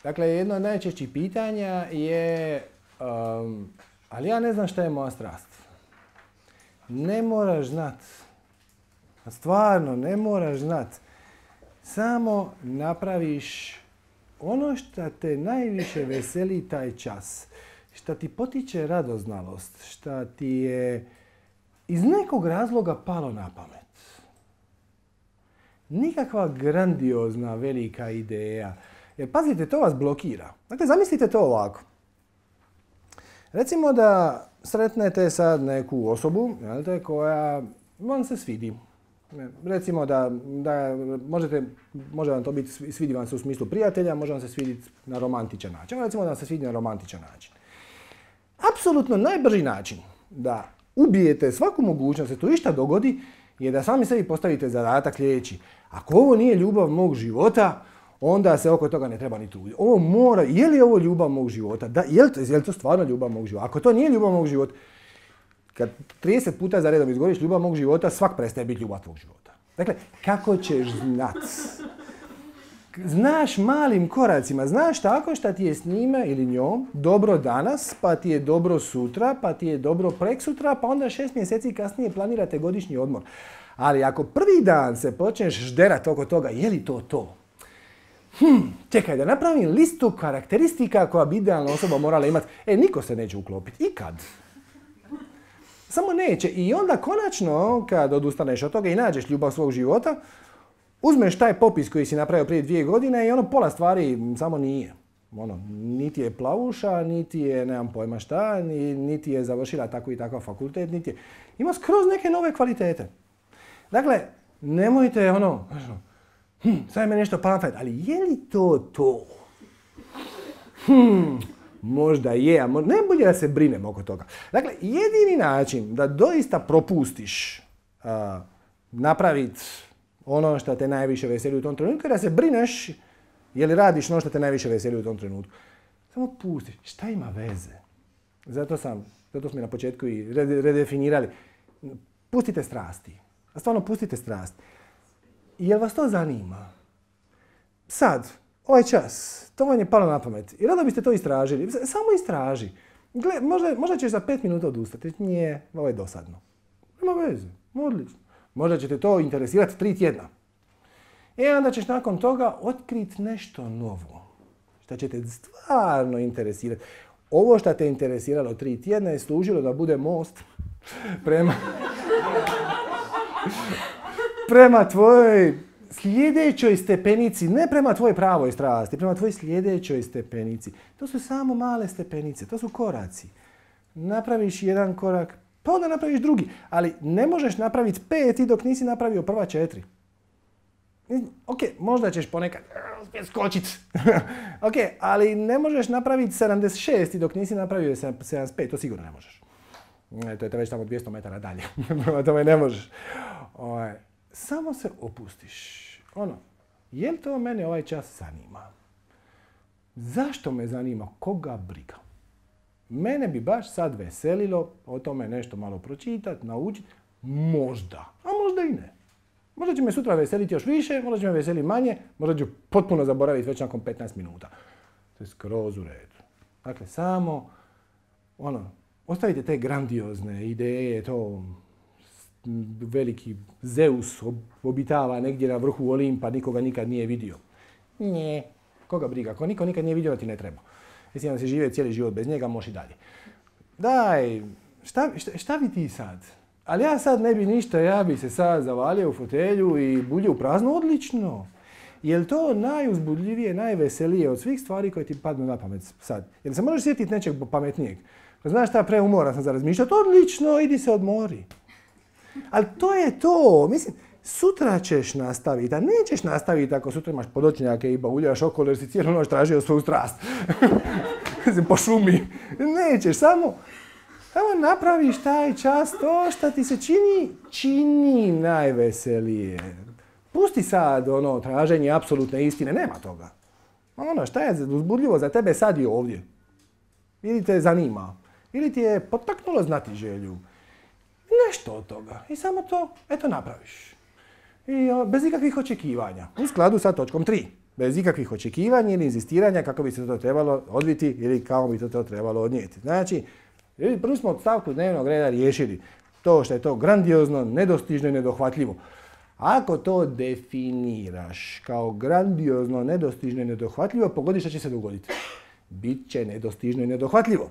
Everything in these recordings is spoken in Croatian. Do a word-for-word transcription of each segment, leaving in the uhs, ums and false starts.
Dakle, jedno od najčešćih pitanja je, um, ali ja ne znam šta je moja strast. Ne moraš znat. Stvarno, ne moraš znat. Samo napraviš ono što te najviše veseli taj čas. Šta ti potiče radoznalost. Šta ti je iz nekog razloga palo na pamet. Nikakva grandiozna, velika ideja. Jer pazite, to vas blokira. Dakle, zamislite to ovako. Recimo da sretnete sad neku osobu, jel'te, koja vam se svidi. Recimo da, da možete, može vam to biti, svidi vam se u smislu prijatelja, može vam se svidjeti na romantičan način. Recimo da vam se svidi na romantičan način. Apsolutno najbrži način da ubijete svaku mogućnost da se to išta dogodi je da sami sebi postavite zadatak sljedeći. Ako ovo nije ljubav mog života, onda se oko toga ne treba ni truditi. Ovo mora, je li ovo ljubav mog života? Da, je li to, je li to stvarno ljubav mog života? Ako to nije ljubav mog života, kad trideset puta za redom izgovoriš ljubav mog života, svak prestaje biti ljubav tvog života. Dakle, kako ćeš znat? Znaš malim koracima, znaš tako šta ti je s njime ili njom dobro danas, pa ti je dobro sutra, pa ti je dobro preksutra, pa onda šest mjeseci kasnije planirate godišnji odmor. Ali ako prvi dan se počneš žderat oko toga, je li to to? Hm, čekaj, da napravim listu karakteristika koja bi idealna osoba morala imati. E, niko se neće uklopiti. Ikad. Samo neće. I onda konačno, kad odustaneš od toga i nađeš ljubav svog života, uzmeš taj popis koji si napravio prije dvije godine i ono pola stvari samo nije. Ono, niti je plavuša, niti je, nemam pojma šta, niti je završila tako i takav fakultet, niti je. Ima skroz neke nove kvalitete. Dakle, nemojte ono, hm, sad je me nešto pamflet, ali je li to to? Hm, možda je, a možda, ne bolje da se brinem oko toga. Dakle, jedini način da doista propustiš uh, napraviti ono što te najviše veseli u tom trenutku, da se brineš je li radiš ono što te najviše veseli u tom trenutku. Samo pustiš. Šta ima veze? Zato sam, zato smo na početku i redefinirali. Pustite strasti. A stvarno pustite strasti. Jel vas to zanima? Sad, ovaj čas, to vam je palo na pamet. I rado biste to istražili. Samo istraži. Gle, možda, možda ćeš za pet minuta odustati. Nije, ovo je dosadno. Nema veze. Odlično. Možda će te to interesirati tri tjedna. I onda ćeš nakon toga otkriti nešto novo. Što će te stvarno interesirati. Ovo što te interesiralo tri tjedna je služilo da bude most prema, prema tvojoj sljedećoj stepenici. Ne prema tvojoj pravoj strasti, prema tvojoj sljedećoj stepenici. To su samo male stepenice, to su koraci. Napraviš jedan korak, pa onda napraviš drugi. Ali ne možeš napraviti pet i dok nisi napravio prva četiri. Ok, možda ćeš ponekad uspjeti skočit. Ok, ali ne možeš napraviti sedamdeset šest i dok nisi napravio sedamdeset pet, to sigurno ne možeš. E, to je već tamo dvjesto metara dalje. Prema tome ne možeš. O, samo se opustiš. Ono, je li to mene ovaj čas zanima? Zašto me zanima? Koga briga? Mene bi baš sad veselilo o tome nešto malo pročitati, naučiti. Možda, a možda i ne. Možda će me sutra veseliti još više, možda će me veseliti manje, možda ću potpuno zaboraviti već nakon petnaest minuta. To je skroz u redu. Dakle, samo, ono, ostavite te grandiozne ideje, to veliki Zeus obitava negdje na vrhu Olimpa, nikoga nikad nije vidio. Nje, koga briga, ako niko nikad nije vidio, ti ne treba. Mislim da si žive cijeli život bez njega, možeš i dalje. Daj, šta, šta, šta bi ti sad? Ali ja sad ne bi ništa, ja bi se sad zavalio u fotelju i buljio u prazno, odlično. Je li to najuzbudljivije, najveselije od svih stvari koje ti padnu na pamet sad? Jer se možeš sjetiti nečeg pametnijeg? Znaš šta, preumoran sam za razmišljati, odlično, idi se odmori. Ali to je to, mislim, sutra ćeš nastaviti, a nećeš nastaviti ako sutra imaš podočnjake i bauljaš okolo jer si cijelu noć tražio svoju strast. Po šumi. Nećeš, samo... Samo napraviš taj čas to što ti se čini, čini najveselije. Pusti sad ono traženje apsolutne istine, nema toga. Ono šta je uzbudljivo za tebe sad i ovdje. Ili te zanima, ili ti je potaknulo znati želju. Nešto od toga. I samo to, eto, napraviš. I o, bez ikakvih očekivanja. U skladu sa točkom tri. Bez ikakvih očekivanja ili inzistiranja kako bi se to trebalo odviti ili kako bi to, to trebalo odnijeti. Znači, prvo smo od stavku dnevnog reda riješili to što je to grandiozno, nedostižno i nedohvatljivo. Ako to definiraš kao grandiozno, nedostižno i nedohvatljivo, pogodi što će se dogoditi. Biće nedostižno i nedohvatljivo.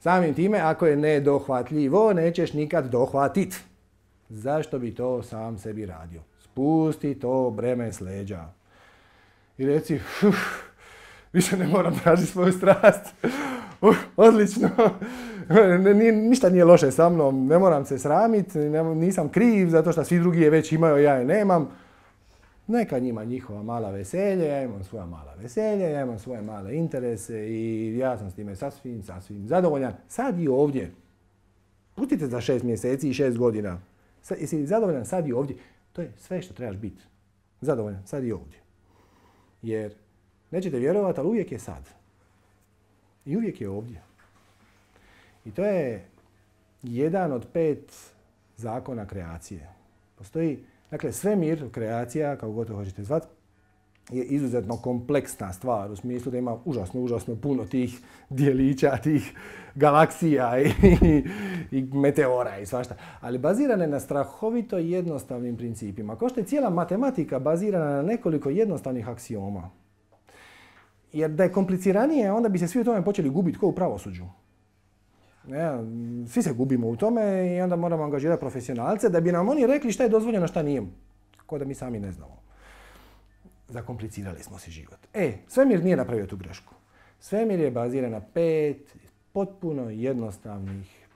Samim time, ako je nedohvatljivo, nećeš nikad dohvatiti. Zašto bi to sam sebi radio? Spusti to breme s leđa. I reci, uf, više ne moram tražiti svoju strast. Uh, odlično. Nije, ništa nije loše sa mnom, ne moram se sramiti, nisam kriv zato što svi drugi je već imaju, ja je nemam. Neka njima njihova mala veselje, ja imam svoja mala veselje, ja imam svoje male interese i ja sam s time sasvim, sasvim zadovoljan. Sad i ovdje. Pustite za šest mjeseci i šest godina. Sad, jesi zadovoljan sad i ovdje? To je sve što trebaš biti. Zadovoljan sad i ovdje. Jer nećete vjerovati, ali uvijek je sad. I uvijek je ovdje. I to je jedan od pet zakona kreacije. Postoji, dakle, svemir, kreacija, kako god to hoćete zvati, je izuzetno kompleksna stvar u smislu da ima užasno, užasno puno tih dijelića, tih galaksija i, i, i meteora i svašta. Ali bazirana je na strahovito jednostavnim principima. Kao što je cijela matematika bazirana na nekoliko jednostavnih aksioma. Jer da je kompliciranije, onda bi se svi u tome počeli gubiti kao u pravosuđu. Ja, svi se gubimo u tome i onda moramo angažirati profesionalce da bi nam oni rekli šta je dozvoljeno, šta nije. Kao da mi sami ne znamo. Zakomplicirali smo si život. E, svemir nije napravio tu grešku. Svemir je baziran na pet potpuno jednostavnih,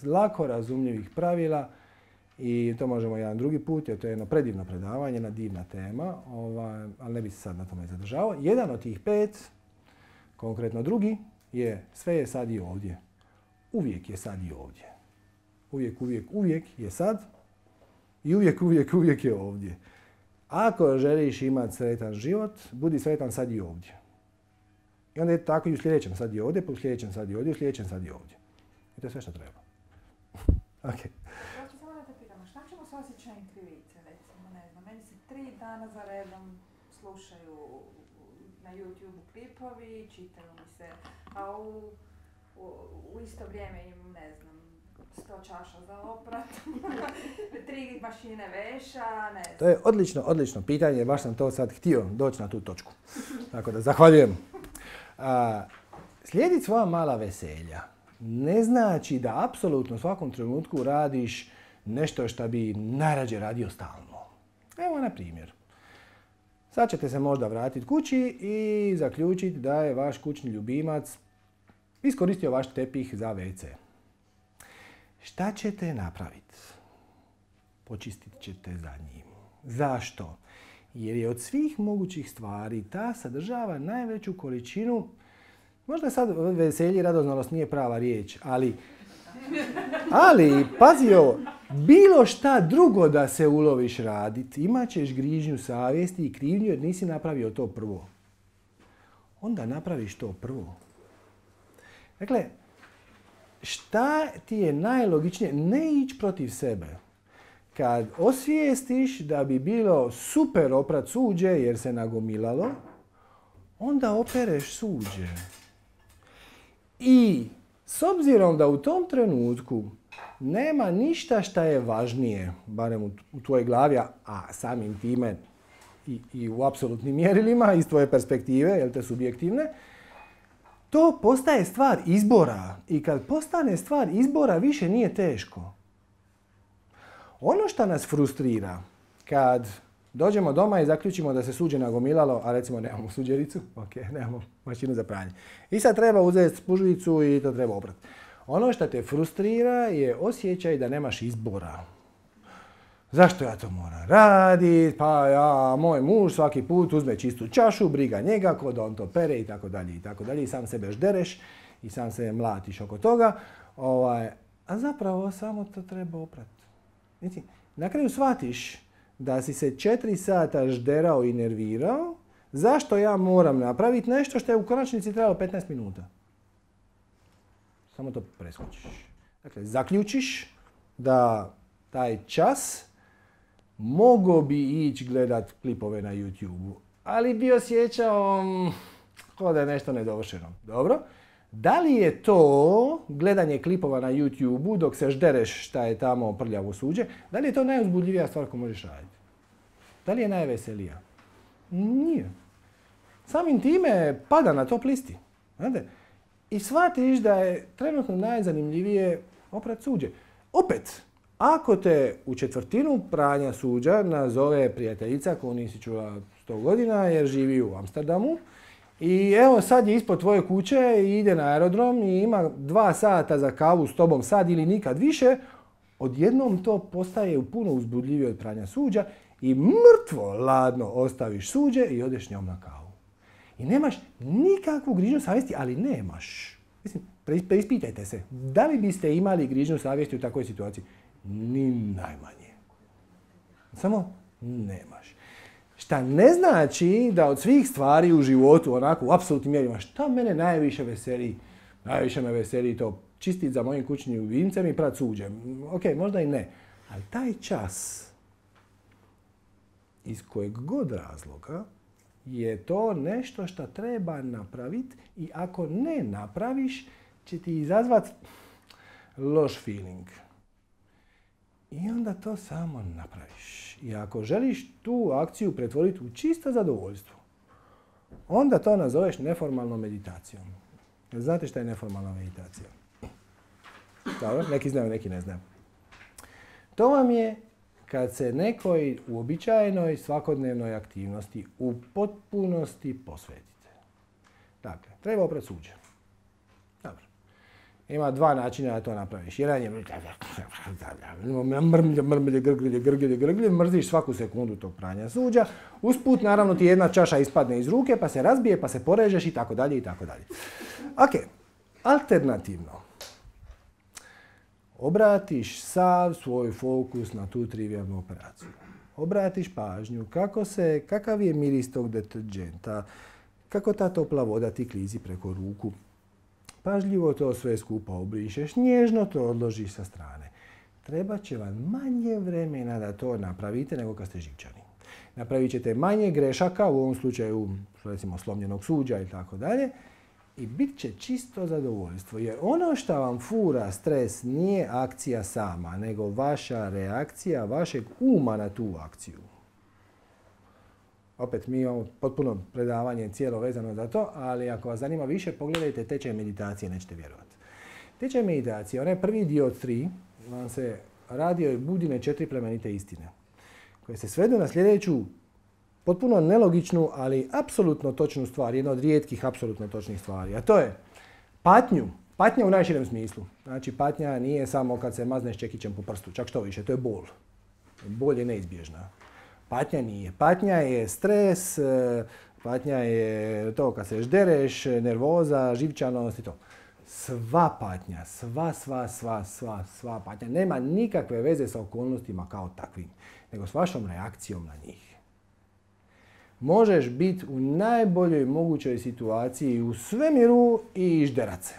lako razumljivih pravila i to možemo jedan drugi put, jer to je jedno predivno predavanje, jedna divna tema, ovaj, ali ne bi se sad na tome zadržavao. Jedan od tih pet, konkretno drugi, je sve je sad i ovdje. Uvijek je sad i ovdje. Uvijek, uvijek, uvijek je sad i uvijek, uvijek, uvijek je ovdje. Ako želiš imati sretan život, budi sretan sad i ovdje. I onda je tako i u sljedećem sad i ovdje, pa u sljedećem sad i ovdje, u sljedećem sad i ovdje. I to je sve što treba. Ok. Ja ću samo da te pitam, šta ćemo s osjećajem krivice, recimo, ne znam, meni se tri dana za redom slušaju na YouTube klipovi, čitaju mi se, a u, u, u isto vrijeme imam, ne znam, sto čaša za oprat, tri mašine veša, ne znam. To je odlično, odlično pitanje, baš sam to sad htio doći na tu točku. Tako da zahvaljujem. A, slijediti svoja mala veselja ne znači da apsolutno u svakom trenutku radiš nešto što bi najrađe radio stalno. Evo na primjer. Sad ćete se možda vratiti kući i zaključiti da je vaš kućni ljubimac iskoristio vaš tepih za ve ce. Šta ćete napraviti? Počistit ćete za njim. Zašto? Jer je od svih mogućih stvari ta sadržava najveću količinu, možda sad veselje i radoznalost nije prava riječ, ali, ali pazi ovo, bilo šta drugo da se uloviš raditi, imat ćeš grižnju savjesti i krivnju jer nisi napravio to prvo. Onda napraviš to prvo. Dakle, šta ti je najlogičnije? Ne ići protiv sebe. Kad osvijestiš da bi bilo super oprat suđe jer se nagomilalo, onda opereš suđe. I s obzirom da u tom trenutku nema ništa šta je važnije, barem u, u tvojoj glavi, a samim time i, i u apsolutnim mjerilima iz tvoje perspektive, jel te subjektivne, to postaje stvar izbora. I kad postane stvar izbora, više nije teško. Ono što nas frustrira, kad dođemo doma i zaključimo da se suđe nagomilalo, a recimo nemamo suđericu, ok, nemamo mašinu za pranje. I sad treba uzeti spužvicu i to treba oprati. Ono što te frustrira je osjećaj da nemaš izbora. Zašto ja to moram raditi? Pa ja, moj muž svaki put uzme čistu čašu, briga njega, ko da on to pere i tako dalje i tako dalje. I sam sebe ždereš i sam se mlatiš oko toga. Ovaj, a zapravo samo to treba oprati. Znači, na kraju shvatiš da si se četiri sata žderao i nervirao, zašto ja moram napraviti nešto što je u konačnici trebalo petnaest minuta. Samo to preskočiš. Dakle, zaključiš da taj čas mogao bi ići gledat klipove na YouTube-u, ali bi osjećao kao da je nešto nedovršeno. Dobro. Da li je to gledanje klipova na YouTube-u dok se ždereš šta je tamo prljavo suđe, da li je to najuzbudljivija stvar koju možeš raditi? Da li je najveselija? Nije. Samim time pada na top listi. Znate? I shvatiš da je trenutno najzanimljivije oprat suđe. Opet, ako te u četvrtinu pranja suđa nazove prijateljica koju nisi čula sto godina jer živi u Amsterdamu, i evo sad je ispod tvoje kuće i ide na aerodrom i ima dva sata za kavu s tobom sad ili nikad više, odjednom to postaje puno uzbudljivije od pranja suđa i mrtvo ladno ostaviš suđe i odeš njom na kavu. I nemaš nikakvu grižnju savjesti, ali nemaš. Mislim, preispitajte se, da li biste imali grižnju savjesti u takvoj situaciji? Ni najmanje. Samo nemaš. Šta ne znači da od svih stvari u životu, onako u apsolutnim mjerima, šta mene najviše veseli? Najviše me veseli to čistit za mojim kućnim vincem i prat suđe. Ok, možda i ne. Ali taj čas, iz kojeg god razloga, je to nešto što treba napraviti i ako ne napraviš, će ti izazvati loš feeling. I onda to samo napraviš. I ako želiš tu akciju pretvoriti u čisto zadovoljstvo, onda to nazoveš neformalnom meditacijom. Znate šta je neformalna meditacija? Dobro, neki znaju, neki ne znaju. To vam je kad se nekoj uobičajenoj svakodnevnoj aktivnosti u potpunosti posvetite. Dakle, treba oprat suđe. Dobro. Ima dva načina da to napraviš. Jedan je mrmlje, mrmlje, grglje, grglje, grglje, mrziš svaku sekundu tog pranja suđa. Usput, naravno, ti jedna čaša ispadne iz ruke, pa se razbije, pa se porežeš i tako dalje i tako dalje. Ok, alternativno. Obratiš sav svoj fokus na tu trivijalnu operaciju. Obratiš pažnju kako se, kakav je miris tog deterdženta, kako ta topla voda ti klizi preko ruku. Pažljivo to sve skupa obrišeš, nježno to odložiš sa strane. Treba će vam manje vremena da to napravite nego kad ste živčani. Napravit ćete manje grešaka, u ovom slučaju recimo slomljenog suđa i tako dalje, i bit će čisto zadovoljstvo. Jer ono što vam fura stres nije akcija sama, nego vaša reakcija, vašeg uma na tu akciju. Opet, mi imamo potpuno predavanje cijelo vezano za to, ali ako vas zanima više, pogledajte tečaj meditacije, nećete vjerovati. Tečaj meditacije, onaj prvi dio od tri, vam se radi o budine četiri plemenite istine, koje se svedu na sljedeću potpuno nelogičnu, ali apsolutno točnu stvar, jedna od rijetkih apsolutno točnih stvari, a to je patnju, patnja u najširem smislu. Znači, patnja nije samo kad se mazneš čekićem po prstu, čak što više, to je bol. Bol je neizbježna. Patnja nije. Patnja je stres, patnja je to kad se ždereš, nervoza, živčanost i to. Sva patnja, sva, sva, sva, sva, sva patnja nema nikakve veze sa okolnostima kao takvim, nego s vašom reakcijom na njih. Možeš biti u najboljoj mogućoj situaciji u svemiru i žderat se.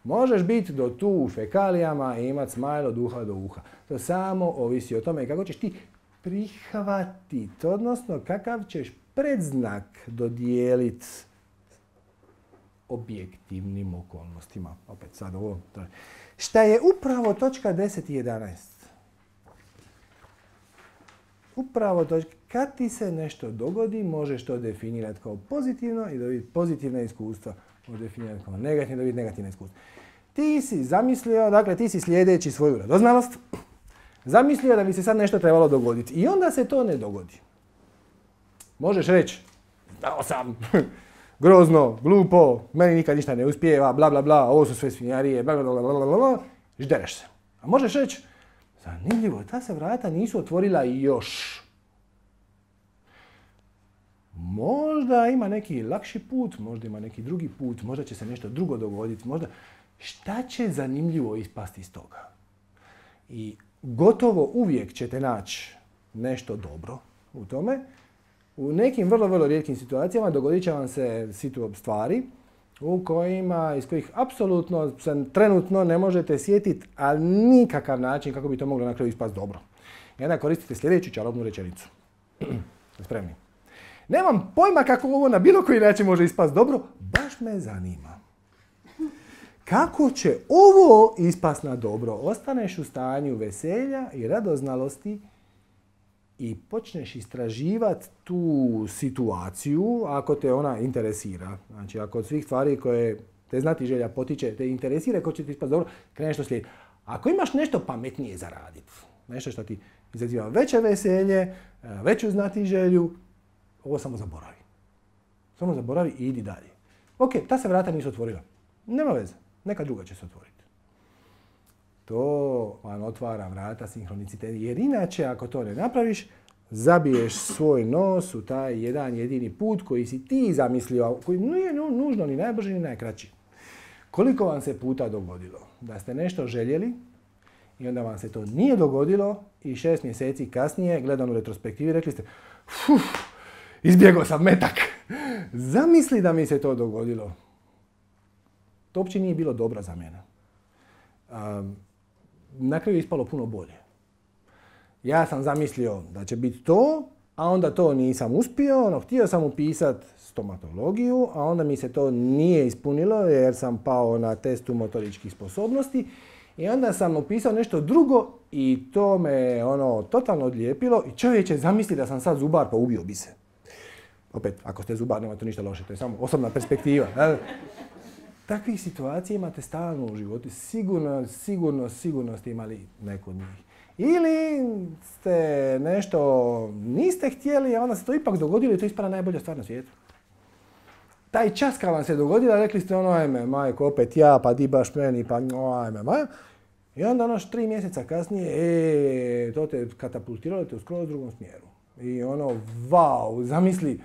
Možeš biti do tu u fekalijama i imati smajl od uha do uha. To samo ovisi o tome kako ćeš ti prihvatiti, odnosno kakav ćeš predznak dodijeliti objektivnim okolnostima. Opet sad ovo. Šta je upravo točka deset i jedanaest. Upravo točka. Kad ti se nešto dogodi, možeš to definirati kao pozitivno i dobiti pozitivna iskustva. Možeš definirati kao negativno i dobiti negativna iskustva. Ti si zamislio, dakle ti si slijedeći svoju radoznalost, zamislio da bi se sad nešto trebalo dogoditi i onda se to ne dogodi. Možeš reći, znao sam, grozno, glupo, meni nikad ništa ne uspijeva, bla bla bla, ovo su sve svinjarije, bla bla bla bla bla bla, ždereš se. A možeš reći, zanimljivo, ta se vrata nisu otvorila još. Možda ima neki lakši put, možda ima neki drugi put, možda će se nešto drugo dogoditi, možda... Šta će zanimljivo ispasti iz toga? I gotovo uvijek ćete naći nešto dobro u tome. U nekim vrlo, vrlo rijetkim situacijama dogodit će vam se stvari u kojima, iz kojih apsolutno se trenutno ne možete sjetiti, ali nikakav način kako bi to moglo na kraju ispasti dobro. I onda koristite sljedeću čarobnu rečenicu. Spremni? spremni. Nemam pojma kako ovo na bilo koji način može ispast dobro, baš me zanima. Kako će ovo ispast na dobro? Ostaneš u stanju veselja i radoznalosti i počneš istraživati tu situaciju ako te ona interesira. Znači, ako od svih stvari koje te znatiželja potiče, te interesira, ko će ti ispast dobro, kreneš to slijediti. Ako imaš nešto pametnije za raditi, nešto što ti izaziva veće veselje, veću znatiželju, ovo samo zaboravi. Samo zaboravi i idi dalje. Ok, ta se vrata nisu otvorila. Nema veze, neka druga će se otvoriti. To vam otvara vrata sinhroniciteta. Jer inače, ako to ne napraviš, zabiješ svoj nos u taj jedan jedini put koji si ti zamislio, koji nije nužno ni najbrži ni najkraći. Koliko vam se puta dogodilo da ste nešto željeli i onda vam se to nije dogodilo i šest mjeseci kasnije, gledano u retrospektivi, rekli ste fuh, izbjegao sam metak. Zamisli da mi se to dogodilo. To uopće nije bilo dobro za mene. Um, na kraju je ispalo puno bolje. Ja sam zamislio da će biti to, a onda to nisam uspio. Ono, htio sam upisati stomatologiju, a onda mi se to nije ispunilo jer sam pao na testu motoričkih sposobnosti. I onda sam upisao nešto drugo i to me ono totalno odlijepilo. I čovječe, zamisli da sam sad zubar, pa ubio bi se. Opet, ako ste zubar, nema to ništa loše, to je samo osobna perspektiva. Takvih situacija imate stalno u životu. Sigurno, sigurno, sigurno ste imali neku od njih. Ili ste nešto niste htjeli, a onda se to ipak dogodilo i to ispada najbolja stvar na svijetu. Taj čas kad vam se dogodilo, rekli ste ono, ajme, majko, opet ja, pa di baš meni, pa ajme, majko. I onda ono tri mjeseca kasnije, e, to te katapultiralo te u skroz drugom smjeru. I ono, vau, zamisli,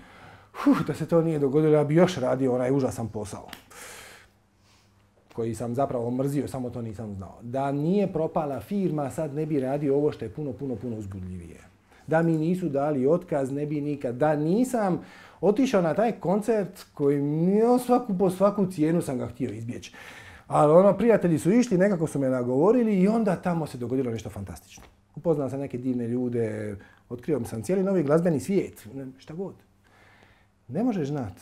huh, da se to nije dogodilo, ja bi još radio onaj užasan posao. Koji sam zapravo mrzio, samo to nisam znao. Da nije propala firma, sad ne bi radio ovo što je puno, puno, puno uzbudljivije. Da mi nisu dali otkaz, ne bi nikad. Da nisam otišao na taj koncert koji mi svaku po svaku cijenu sam ga htio izbjeći. Ali ono, prijatelji su išli, nekako su me nagovorili i onda tamo se dogodilo nešto fantastično. Upoznao sam neke divne ljude, otkrio sam cijeli novi glazbeni svijet, šta god. Ne možeš znat.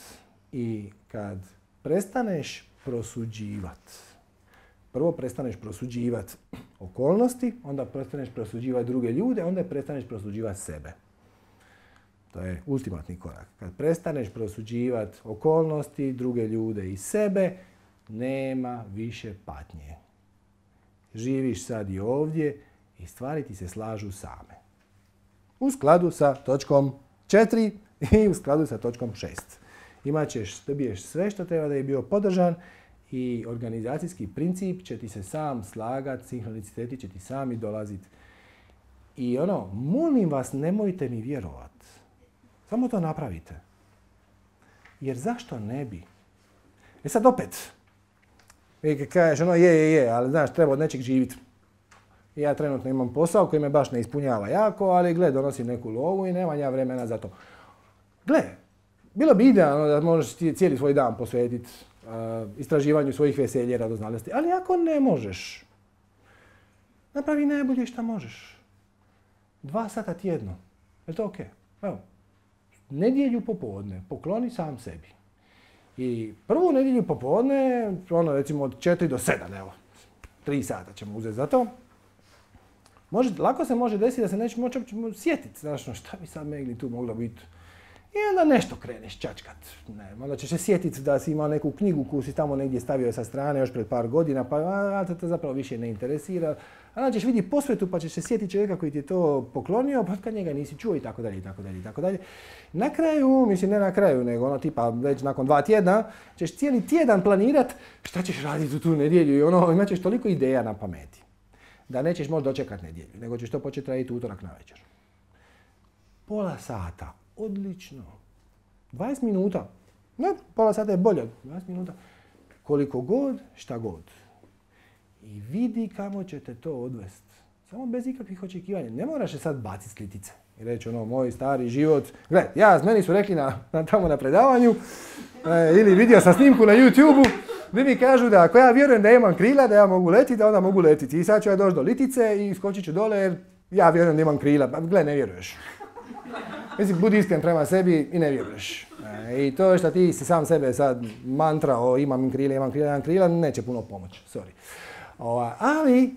I kad prestaneš prosuđivat. Prvo prestaneš prosuđivat okolnosti, onda prestaneš prosuđivat druge ljude, onda prestaneš prosuđivat sebe. To je ultimatni korak. Kad prestaneš prosuđivat okolnosti, druge ljude i sebe, nema više patnje. Živiš sad i ovdje i stvari ti se slažu same. U skladu sa točkom četiri i u skladu sa točkom šest. Imat ćeš, dobiješ sve što treba da je bio podržan i organizacijski princip će ti se sam slagat, sinhroniciteti će ti sami dolaziti. I ono, molim vas, nemojte mi vjerovat. Samo to napravite. Jer zašto ne bi? E sad opet, i kažeš ono je, je, je, ali znaš, treba od nečeg živjeti. Ja trenutno imam posao koji me baš ne ispunjava jako, ali gle, donosim neku lovu i nemam ja vremena za to. Gle, bilo bi idealno da možeš cijeli svoj dan posvetiti uh, istraživanju svojih veselja i radoznalosti, ali ako ne možeš, napravi najbolje što možeš. Dva sata tjedno. Je to ok? Evo, nedjelju popodne pokloni sam sebi. I prvu nedjelju popodne, ono recimo od četiri do sedam, evo, tri sata ćemo uzeti za to. Može, lako se može desiti da se neće moći sjetiti, znaš, šta bi sad megli tu moglo biti. I onda nešto kreneš čačkat. Ne, onda ćeš se sjetiti da si imao neku knjigu koju si tamo negdje stavio sa strane još pred par godina, pa a, te, te zapravo više ne interesira. A onda ćeš vidjeti posvetu pa ćeš se sjetiti čovjeka koji ti je to poklonio, pa kad njega nisi čuo i tako dalje, i tako dalje, i tako dalje. Na kraju, mislim ne na kraju, nego ono tipa već nakon dva tjedna, ćeš cijeli tjedan planirat šta ćeš raditi u tu nedjelju i ono, imat ćeš toliko ideja na pameti. Da nećeš moći dočekati nedjelju, nego ćeš to početi raditi utorak na večer. Pola sata. Odlično. dvadeset minuta. Ne, pola sata je bolje od dvadeset minuta. Koliko god, šta god. I vidi kamo će te to odvesti. Samo bez ikakvih očekivanja. Ne moraš se sad baciti s litice. I reći ono, moj stari život. Gle, ja, meni su rekli na, na tamo na predavanju, e, ili vidio sam snimku na YouTubeu, gdje mi kažu da ako ja vjerujem da imam krila, da ja mogu letiti, da onda mogu letiti. I sad ću ja doći do litice i skočit ću dole jer ja vjerujem da imam krila. Gle, ne vjeruješ. Mislim, budi iskren prema sebi i ne vjeruješ. E, I to što ti si sam sebe sad mantrao, imam krila, imam krila, imam krila, neće puno pomoći, sorry. Ova, ali,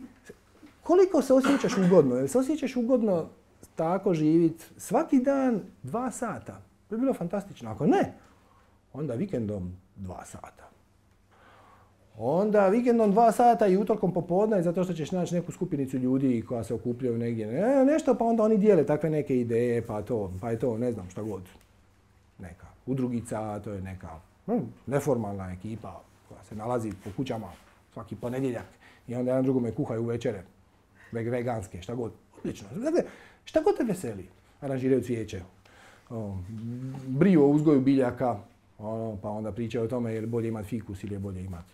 koliko se osjećaš ugodno? Jel se osjećaš ugodno tako živit svaki dan dva sata? To bi bilo fantastično. Ako ne, onda vikendom dva sata. Onda vikendom dva sata i utorkom popodne, zato što ćeš naći neku skupinicu ljudi koja se okupljaju negdje. Ne, nešto, pa onda oni dijele takve neke ideje, pa to, pa je to, ne znam šta god. Neka udrugica, to je neka hm, neformalna ekipa koja se nalazi po kućama svaki ponedjeljak. I onda jedan drugome kuhaju večere, veganske, šta god. Odlično. Dakle, šta god te veseli. Aranžiraju cvijeće, o, briju o uzgoju biljaka, ono, pa onda pričaju o tome je li bolje imati fikus ili je bolje imati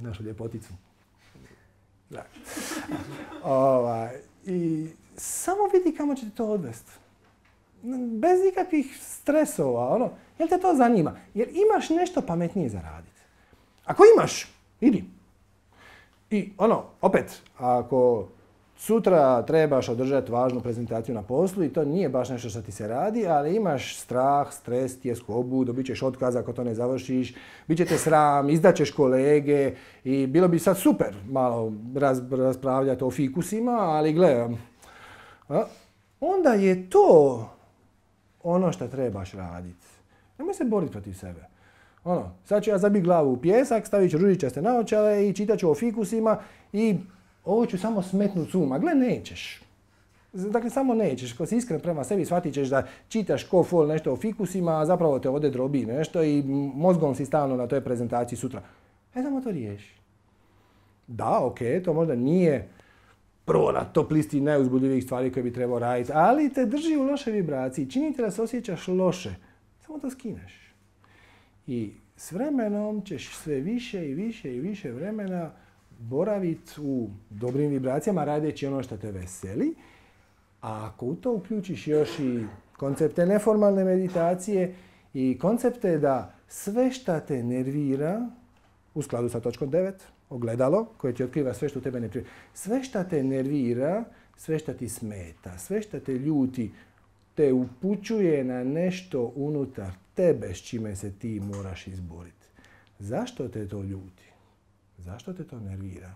našu ljepoticu. Ova, I samo vidi kamo će te to odvesti. Bez ikakvih stresova, ono. Jel te to zanima? Jer imaš nešto pametnije za raditi. Ako imaš, idi. I ono, opet, ako sutra trebaš održati važnu prezentaciju na poslu i to nije baš nešto što ti se radi, ali imaš strah, stres, tjeskobu, dobit ćeš otkaz ako to ne završiš, bit će te sram, izdaćeš kolege i bilo bi sad super malo raz, raspravljati o fikusima, ali gle, onda je to ono što trebaš raditi. Nemoj se boriti protiv sebe. Ono, sad ću ja zabiti glavu u pijesak, stavit ću ružičaste naočale i čitat ću o fikusima i ovo ću samo smetnut s uma. Gle, nećeš. Dakle, samo nećeš. Ko si iskren prema sebi, shvatit ćeš da čitaš ko fol nešto o fikusima, a zapravo te ovdje drobi nešto i mozgom si stalno na toj prezentaciji sutra. E, samo to riješi. Da, ok, to možda nije prvo na top listi najuzbudljivijih stvari koje bi trebao raditi, ali te drži u lošoj vibraciji. Čini te da se osjećaš loše. Samo to skineš. I s vremenom ćeš sve više i više i više vremena boraviti u dobrim vibracijama radeći ono što te veseli. A ako u to uključiš još i koncepte neformalne meditacije i koncepte da sve što te nervira, u skladu sa točkom devet, ogledalo koje ti otkriva sve što tebe ne nervira, sve što te nervira, sve što ti smeta, sve što te ljuti, te upućuje na nešto unutar tebe s čime se ti moraš izboriti. Zašto te to ljuti? Zašto te to nervira?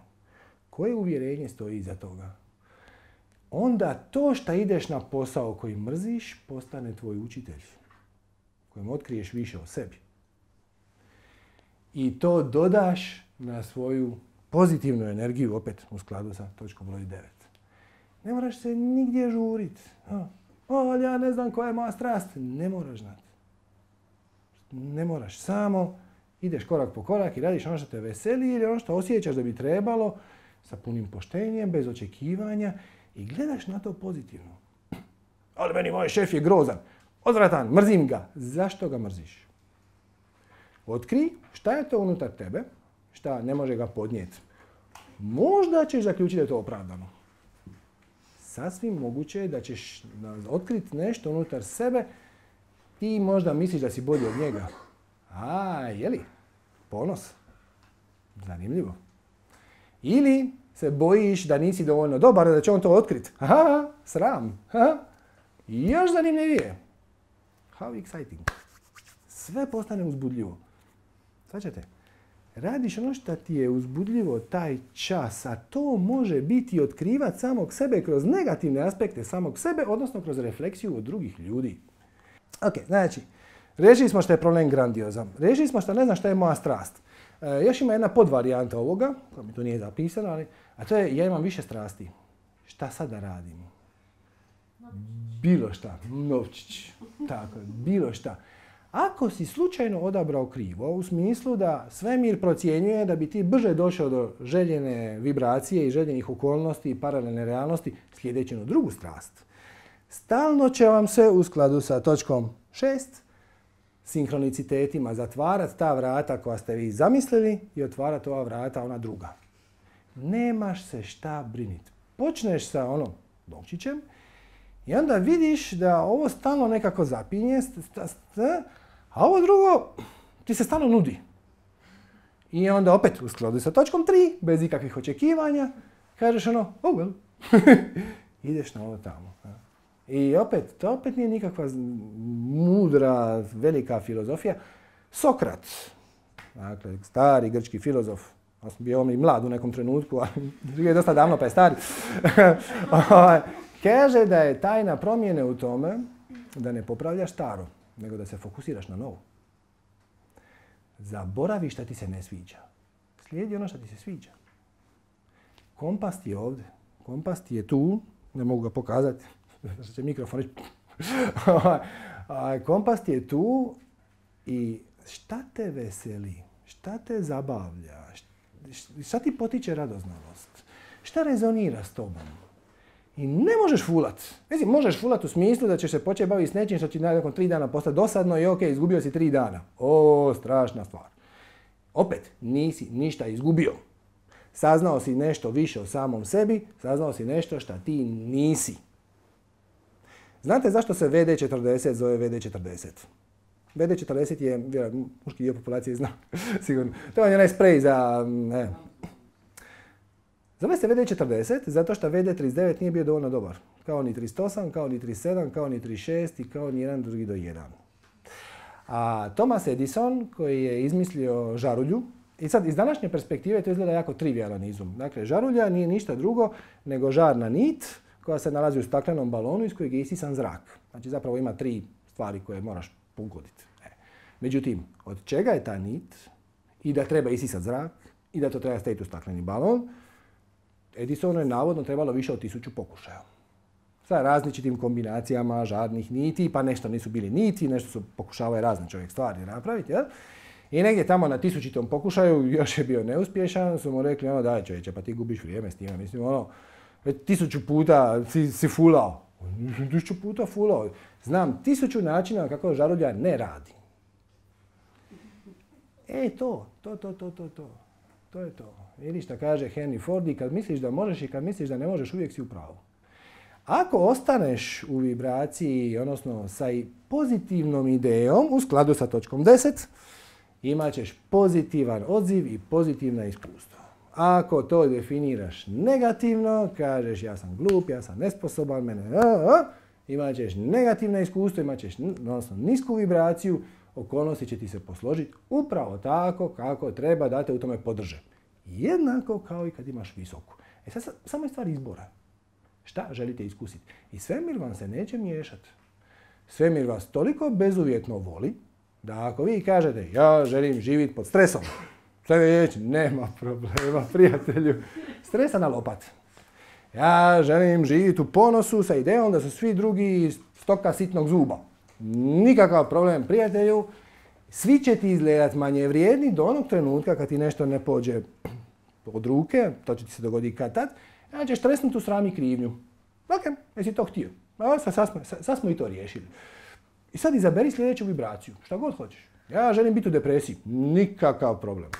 Koje uvjerenje stoji iza toga? Onda to što ideš na posao koji mrziš postane tvoj učitelj, kojem otkriješ više o sebi. I to dodaš na svoju pozitivnu energiju, opet u skladu sa točkom broj devet. Ne moraš se nigdje žuriti. O, ja ne znam koja je moja strast. Ne moraš znati. Ne moraš, samo ideš korak po korak i radiš ono što te veseli ili ono što osjećaš da bi trebalo sa punim poštenjem, bez očekivanja i gledaš na to pozitivno. Ali meni moj šef je grozan, odvratan, mrzim ga. Zašto ga mrziš? Otkri šta je to unutar tebe, šta ne može ga podnijeti. Možda ćeš zaključiti da je to opravdano. Sasvim moguće je da ćeš otkriti nešto unutar sebe. Ti možda misliš da si bolji od njega. A, jeli? Ponos. Zanimljivo. Ili se bojiš da nisi dovoljno dobar, da će on to otkriti. Aha, sram. Aha. Još zanimljivije. How exciting. Sve postane uzbudljivo. Svaćate? Radiš ono što ti je uzbudljivo taj čas, a to može biti otkrivat samog sebe kroz negativne aspekte samog sebe, odnosno kroz refleksiju od drugih ljudi. Ok, znači, riješili smo što je problem grandiozan. Riješili smo što ne znam što je moja strast. E, još ima jedna podvarijanta ovoga, koja mi tu nije zapisana, ali, a to je ja imam više strasti. Šta sad da radim? Bilo šta. Novčić. Tako, bilo šta. Ako si slučajno odabrao krivo, u smislu da svemir procjenjuje da bi ti brže došao do željene vibracije i željenih okolnosti i paralelne realnosti sljedeći na drugu strast, stalno će vam se u skladu sa točkom šest sinhronicitetima zatvarati ta vrata koja ste vi zamislili i otvarati ova vrata, ona druga. Nemaš se šta briniti. Počneš sa onom novčićem i onda vidiš da ovo stalno nekako zapinje, a ovo drugo ti se stalno nudi. I onda opet u skladu sa točkom tri, bez ikakvih očekivanja, kažeš ono, oh well, ideš na ovo tamo. I opet, to opet nije nikakva mudra, velika filozofija. Sokrat, dakle, stari grčki filozof, ja sam bio on i mlad u nekom trenutku, ali je dosta davno pa je stari, kaže da je tajna promjene u tome da ne popravljaš staro, nego da se fokusiraš na novo. Zaboravi šta ti se ne sviđa. Slijedi ono što ti se sviđa. Kompas ti je ovdje. Kompas ti je tu. Ne mogu ga pokazati. Što će mikrofon reći. Kompas ti je tu i šta te veseli? Šta te zabavlja? Šta ti potiče radoznalost? Šta rezonira s tobom? I ne možeš fulat. Mislim, možeš fulat u smislu da ćeš se početi baviti s nečim što će nakon tri dana postati dosadno i ok, izgubio si tri dana. O, strašna stvar. Opet, nisi ništa izgubio. Saznao si nešto više o samom sebi, saznao si nešto što ti nisi. Znate zašto se V D četrdeset zove V D četrdeset? V D četrdeset je, vjerojatno, muški dio populacije zna, sigurno. To je onaj sprej za, ne. Zove se V D četrdeset zato što V D trideset devet nije bio dovoljno dobar. Kao ni trideset osam, kao ni trideset sedam, kao ni trideset šest i kao ni jedan drugi do jedan. A Thomas Edison, koji je izmislio žarulju, i sad iz današnje perspektive to izgleda jako trivijalan izum. Dakle, žarulja nije ništa drugo nego žarna nit koja se nalazi u staklenom balonu iz kojeg je isisan zrak. Znači zapravo ima tri stvari koje moraš pogoditi. E. Međutim, od čega je ta nit i da treba isisati zrak i da to treba staviti u stakleni balon, Edisonu je navodno trebalo više od tisuću pokušaja. Sa različitim kombinacijama žarnih niti, pa nešto nisu bili niti, nešto su pokušavaju razne čovjek stvari napraviti. Jel? I negdje tamo na tisućitom pokušaju, još je bio neuspješan, su mu rekli, ono, daj čovječe, pa ti gubiš vrijeme s time. Mislim, ono, već tisuću puta si, si fulao. Tisuću puta fulao. Znam tisuću načina kako žarulja ne radi. E, to, to, to, to, to, to. To je to. Vidiš šta kaže Henry Ford, i kad misliš da možeš i kad misliš da ne možeš, uvijek si u pravu. Ako ostaneš u vibraciji, odnosno sa pozitivnom idejom, u skladu sa točkom deset, imat ćeš pozitivan odziv i pozitivna iskustva. Ako to definiraš negativno, kažeš ja sam glup, ja sam nesposoban, mene, a, a, imat ćeš negativna iskustva, imat ćeš odnosno, nisku vibraciju, okolnosti će ti se posložiti upravo tako kako treba da te u tome podrže. Jednako kao i kad imaš visoku. E sad, samo je stvar izbora. Šta želite iskusiti? I svemir vam se neće miješati. Svemir vas toliko bezuvjetno voli da ako vi kažete ja želim živjeti pod stresom, svemir reći nema problema, prijatelju. Stresa na lopat. Ja želim živjeti u ponosu sa idejom da su svi drugi stoka sitnog zuba. Nikakav problem, prijatelju. Svi će ti izgledati manje vrijedni do onog trenutka kad ti nešto ne pođe od ruke, to će ti se dogoditi kad tad, ja ćeš tresnuti u sram i krivnju. Ok, jesi to htio. Sad, sad, smo, sad smo i to riješili. I sad izaberi sljedeću vibraciju, šta god hoćeš. Ja želim biti u depresiji. Nikakav problem.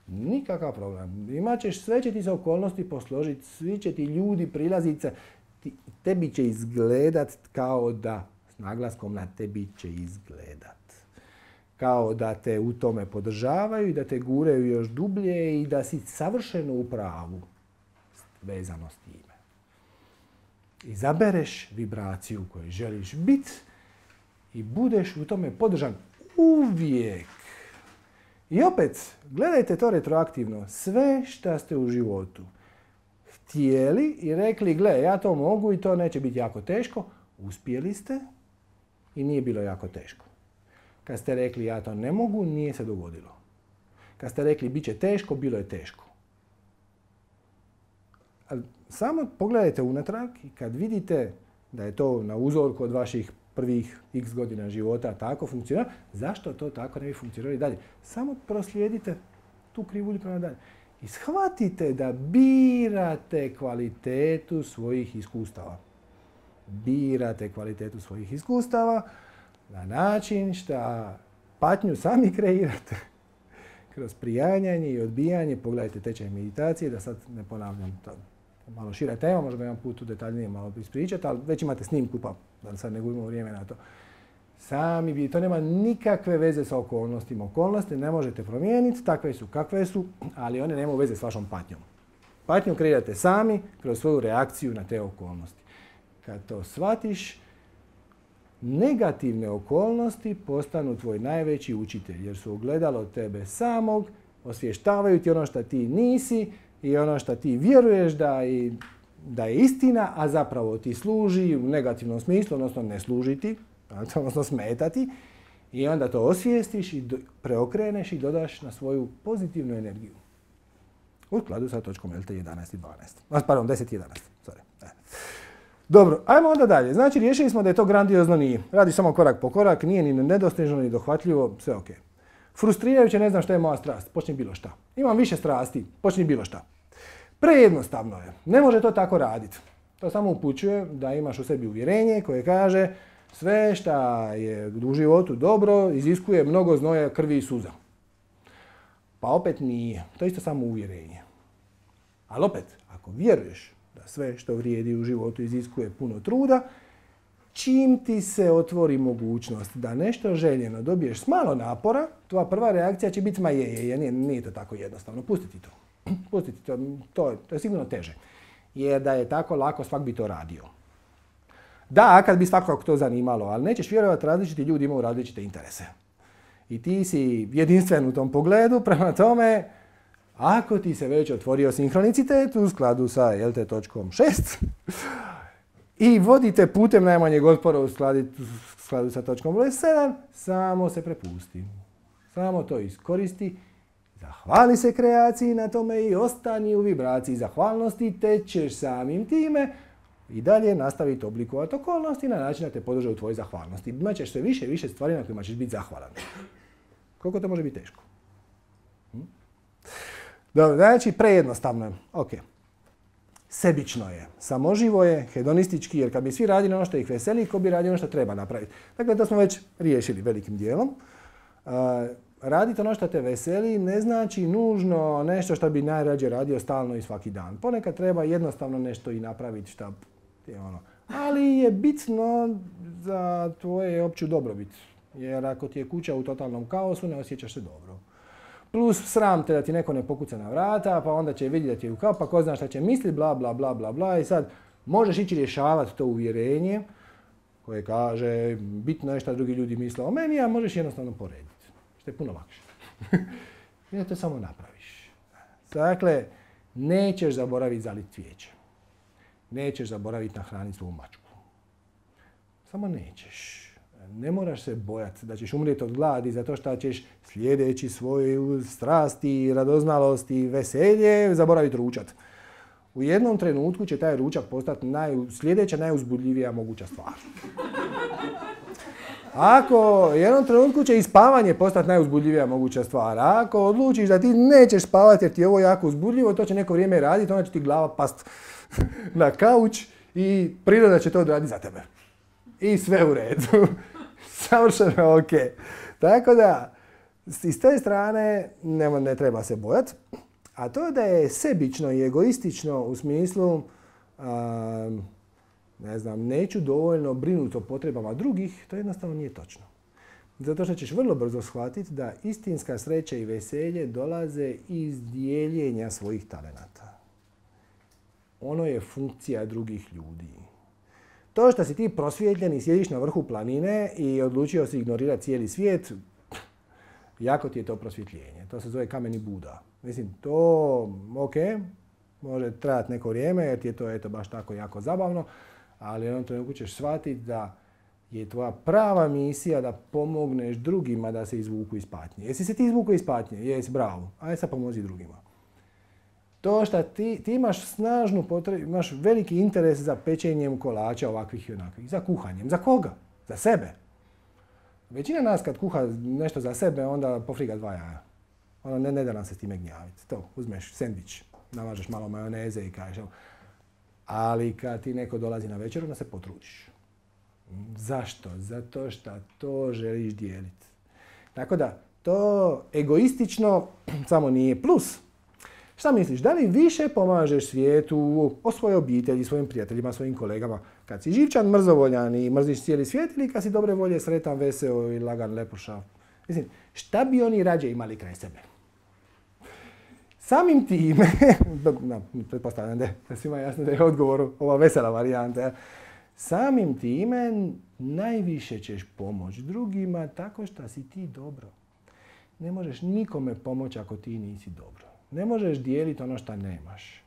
Nikakav problem. Imaćeš, sve će ti se okolnosti posložiti, svi će ti ljudi prilaziti, ti, tebi će izgledat kao da, s naglaskom na tebi će izgledat. Kao da te u tome podržavaju i da te guraju još dublje i da si savršeno u pravu vezano s time. Izabereš vibraciju u kojoj želiš biti i budeš u tome podržan uvijek. I opet, gledajte to retroaktivno. Sve što ste u životu htjeli i rekli, gle, ja to mogu i to neće biti jako teško, uspjeli ste i nije bilo jako teško. Kad ste rekli, ja to ne mogu, nije se dogodilo. Kad ste rekli, bit će teško, bilo je teško. Ali samo pogledajte unatrag i kad vidite da je to na uzorku od vaših prvih x godina života tako funkcionira, zašto to tako ne bi funkcionirali dalje? Samo proslijedite tu krivulju prema dalje. I shvatite da birate kvalitetu svojih iskustava. Birate kvalitetu svojih iskustava na način što patnju sami kreirate. Kroz prijanjanje i odbijanje, pogledajte tečaj meditacije, da sad ne ponavljam to. Malo šira tema, možemo jedan put u detaljnije malo ispričati, ali već imate snimku pa da sad ne gubimo vrijeme na to. Sami bi, to nema nikakve veze sa okolnostima. Okolnosti ne možete promijeniti, takve su kakve su, ali one nemaju veze s vašom patnjom. Patnju kreirate sami kroz svoju reakciju na te okolnosti. kad to shvatiš, negativne okolnosti postanu tvoj najveći učitelj, jer su ogledalo tebe samog, osvještavaju ti ono što ti nisi i ono što ti vjeruješ da, i, da je istina, a zapravo ti služi u negativnom smislu, odnosno ne služi ti, odnosno smeta ti, i onda to osvijestiš i do, preokreneš i dodaš na svoju pozitivnu energiju. U skladu sa točkom L T jedanaest i dvanaest. Pardon, deset i jedanaest. Sorry. Dobro, ajmo onda dalje. Znači, riješili smo da je to grandiozno, nije. Radi samo korak po korak, nije ni nedostižno, ni dohvatljivo, sve ok. Frustrirajuće, ne znam što je moja strast, počni bilo šta. Imam više strasti, počni bilo šta. Prejednostavno je, ne može to tako raditi. To samo upućuje da imaš u sebi uvjerenje koje kaže sve šta je u životu dobro iziskuje mnogo znoja, krvi i suza. Pa opet nije, to je isto samo uvjerenje. Ali opet, ako vjeruješ da sve što vrijedi u životu iziskuje puno truda, čim ti se otvori mogućnost da nešto željeno dobiješ s malo napora, tvoja prva reakcija će biti ma je, je, je, nije, nije to tako jednostavno, pustiti to. Pustiti to, to, to je sigurno teže. Jer da je tako lako, svak bi to radio. Da, kad bi svakog to zanimalo, ali nećeš vjerovati, različiti ljudi imaju različite interese. I ti si jedinstven u tom pogledu, prema tome, ako ti se već otvorio sinhronicitet u skladu sa L T točkom šest i vodite putem najmanjeg otpora u skladu, u skladu sa točkom broj sedam, samo se prepusti. Samo to iskoristi, zahvali se kreaciji na tome i ostani u vibraciji zahvalnosti, te ćeš samim time i dalje nastaviti oblikovati okolnosti na način da te podrže u tvojoj zahvalnosti. Imat ćeš sve više i više stvari na kojima ćeš biti zahvalan. Koliko to može biti teško? Hm? Dobro, znači prejednostavno je. Ok. Sebično je, samoživo je, hedonistički, jer kad bi svi radili ono što ih veseli, ko bi radio ono što treba napraviti. Dakle, to smo već riješili velikim dijelom. Uh, raditi ono što te veseli ne znači nužno nešto što bi najrađe radio stalno i svaki dan. Ponekad treba jednostavno nešto i napraviti što je ono. Ali je bitno za tvoje opću dobrobit. Jer ako ti je kuća u totalnom kaosu, ne osjećaš se dobro. Plus sram te da ti neko ne pokuca na vrata, pa onda će vidjeti da ti je u kao, pa ko zna šta će misliti, bla, bla, bla, bla, bla. I sad možeš ići rješavati to uvjerenje koje kaže bitno je šta drugi ljudi misle o meni, a možeš jednostavno porediti. Što je puno lakše. I da to samo napraviš. Dakle, nećeš zaboraviti zaliti cvijeće. Nećeš zaboraviti nahraniti svoju mačku. Samo nećeš. Ne moraš se bojati da ćeš umrijeti od gladi zato što ćeš sljedeći svoju strasti, radoznalost i veselje zaboraviti ručat. U jednom trenutku će taj ručak postati naj, sljedeća najuzbudljivija moguća stvar. Ako u jednom trenutku će i spavanje postati najuzbudljivija moguća stvar. Ako odlučiš da ti nećeš spavati jer ti je ovo jako uzbudljivo, to će neko vrijeme raditi, onda će ti glava past na kauč i priroda će to odraditi za tebe. I sve u redu. Savršeno ok. Tako da, iz te strane ne, ne treba se bojati. A to da je sebično i egoistično u smislu um, ne znam, neću dovoljno brinuti o potrebama drugih, to jednostavno nije točno. Zato što ćeš vrlo brzo shvatiti da istinska sreća i veselje dolaze iz dijeljenja svojih talenata. Ono je funkcija drugih ljudi. To što si ti prosvjetljen i sjediš na vrhu planine i odlučio si ignorirati cijeli svijet, jako ti je to prosvjetljenje. To se zove kameni Buda. Mislim, to, ok, može trajati neko vrijeme jer ti je to eto, baš tako jako zabavno, ali u jednom trenutku ćeš shvatiti da je tvoja prava misija da pomogneš drugima da se izvuku iz patnje. Jesi se ti izvuku iz patnje? Jesi, bravo. Ajde sad pomozi drugima. To što ti, ti imaš snažnu potrebu, imaš veliki interes za pečenjem kolača ovakvih i onakvih. Za kuhanjem. Za koga? Za sebe. Većina nas kad kuha nešto za sebe, onda pofriga dva jaja. Ono, ne, ne da nam se s time gnjaviti. To, uzmeš sendvič, namažeš malo majoneze i kažeš. Ali kad ti neko dolazi na večeru, onda se potrudiš. Zašto? Zato što to želiš dijeliti. Tako da, to egoistično samo nije plus. Šta misliš, da li više pomažeš svijetu, o svojoj obitelji, svojim prijateljima, svojim kolegama, kad si živčan, mrzovoljan i mrziš cijeli svijet ili kad si dobre volje, sretan, veseo i lagan, lepošav? Mislim, šta bi oni rađe imali kraj sebe? Samim time, no, pretpostavljam da je svima jasno da je odgovor ova vesela varijanta, Samim time najviše ćeš pomoći drugima tako što si ti dobro. Ne možeš nikome pomoći ako ti nisi dobro. Ne možeš dijeliti ono što nemaš.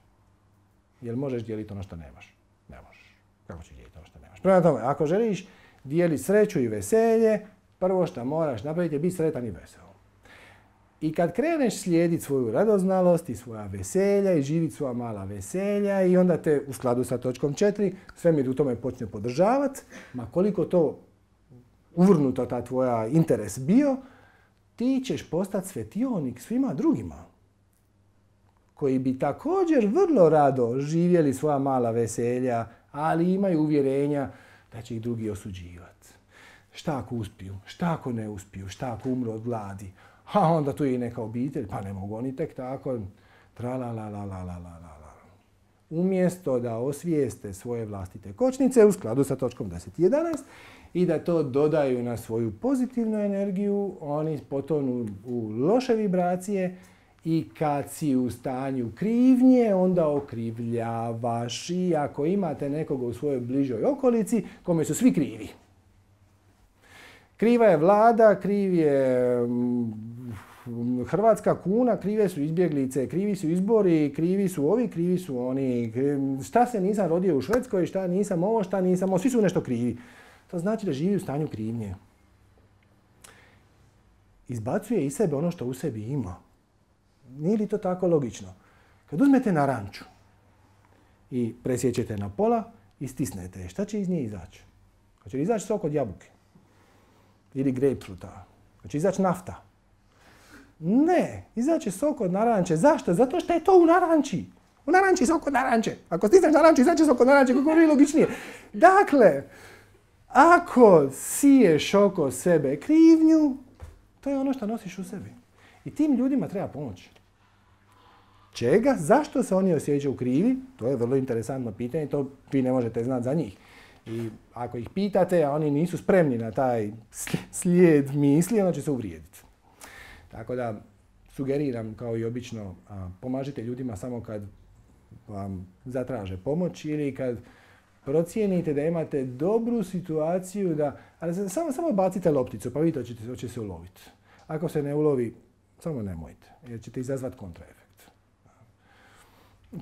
Jel možeš dijeliti ono što nemaš? Ne možeš. Kako ćeš dijeliti ono što nemaš? Prema tome, ako želiš dijeliti sreću i veselje, prvo što moraš napraviti je biti sretan i vesel. I kad kreneš slijediti svoju radoznalost i svoja veselja i živjeti svoja mala veselja i onda te u skladu sa točkom četiri svemir u tome počne podržavati, ma koliko to uvrnuto ta tvoja interes bio, ti ćeš postati svetionik svima drugima koji bi također vrlo rado živjeli svoja mala veselja, ali imaju uvjerenja da će ih drugi osuđivati. Šta ako uspiju? Šta ako ne uspiju? Šta ako umru od gladi? A onda tu je i neka obitelj, pa ne mogu oni tek tako. Tra-la-la-la-la-la-la-la. Umjesto da osvijeste svoje vlastite kočnice u skladu sa točkom deset i jedanaest i da to dodaju na svoju pozitivnu energiju, oni potonu u loše vibracije i kad si u stanju krivnje, onda okrivljavaš i ako imate nekoga u svojoj bližoj okolici, kome su svi krivi. Kriva je vlada, kriv je hrvatska kuna, krive su izbjeglice, krivi su izbori, krivi su ovi, krivi su oni. Šta se nisam rodio u Švedskoj, šta nisam ovo, šta nisam ovo, svi su nešto krivi. To znači da živi u stanju krivnje. Izbacuje iz sebe ono što u sebi ima. Nije li to tako logično? Kad uzmete naranču i presjećete na pola i stisnete je, šta će iz nje izaći? Hoće li izaći sok od jabuke? Ili grapefruta? Hoće izaći nafta? Ne, izaće sok od naranče. Zašto? Zato što je to u naranči. U naranči sok od naranče. Ako stisneš naranču, izaće sok od naranče, kako je logičnije. Dakle, ako siješ oko sebe krivnju, to je ono što nosiš u sebi. I tim ljudima treba pomoći. Čega? Zašto se oni osjećaju krivi? To je vrlo interesantno pitanje, to vi ne možete znati za njih. I ako ih pitate, a oni nisu spremni na taj slijed misli, onda će se uvrijediti. Tako da sugeriram, kao i obično, pomažite ljudima samo kad vam zatraže pomoć ili kad procijenite da imate dobru situaciju, da, ali samo, samo bacite lopticu pa vidite hoće, hoće se uloviti. Ako se ne ulovi, samo nemojte, jer ćete izazvati kontraefekt.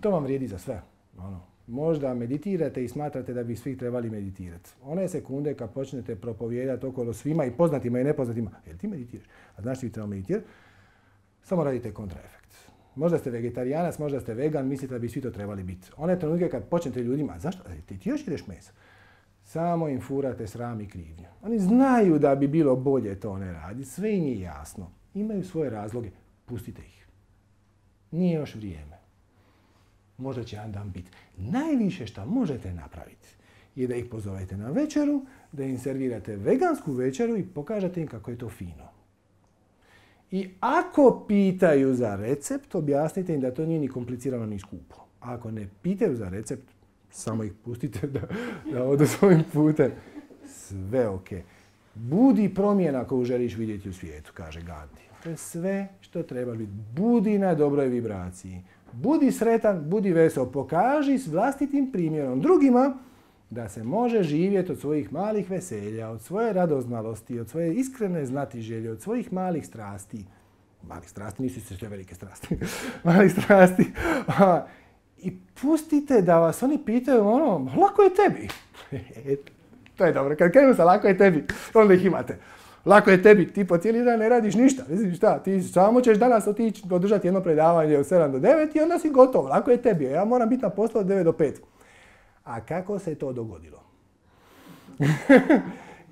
To vam vrijedi za sve. Ono. Možda meditirate i smatrate da bi svi trebali meditirati. One sekunde kad počnete propovijedati okolo svima i poznatima i nepoznatima, jel ti meditiraš? A znaš ti treba meditirati? Samo radite kontraefekt. Možda ste vegetarijanac, možda ste vegan, mislite da bi svi to trebali biti. One trenutke kad počnete ljudima, zašto? Ti, ti još ideš meso. Samo im furate sram i krivnju. Oni znaju da bi bilo bolje to ne raditi, sve im je jasno. Imaju svoje razloge, pustite ih. Nije još vrijeme. Možda će jedan dan biti. Najviše što možete napraviti je da ih pozovete na večeru, da im servirate vegansku večeru i pokažete im kako je to fino. I ako pitaju za recept, objasnite im da to nije ni komplicirano ni skupo. A ako ne pitaju za recept, samo ih pustite da, da odu svojim putem. Sve ok. Budi promjena koju želiš vidjeti u svijetu, kaže Gandhi. To je sve što treba biti. Budi na dobroj vibraciji. Budi sretan, budi vesel. Pokaži s vlastitim primjerom drugima da se može živjeti od svojih malih veselja, od svoje radoznalosti, od svoje iskrene znatiželje, od svojih malih strasti. Malih strasti, nisu sve velike strasti. malih strasti. I pustite da vas oni pitaju ono, lako je tebi. To je dobro, kad krenu sa lako je tebi, onda ih imate. Lako je tebi, ti po cijeli dan ne radiš ništa. Mislim šta, ti samo ćeš danas otići održati jedno predavanje od sedam do devet i onda si gotov. Lako je tebi, ja moram biti na poslu od devet do pet. A kako se to dogodilo?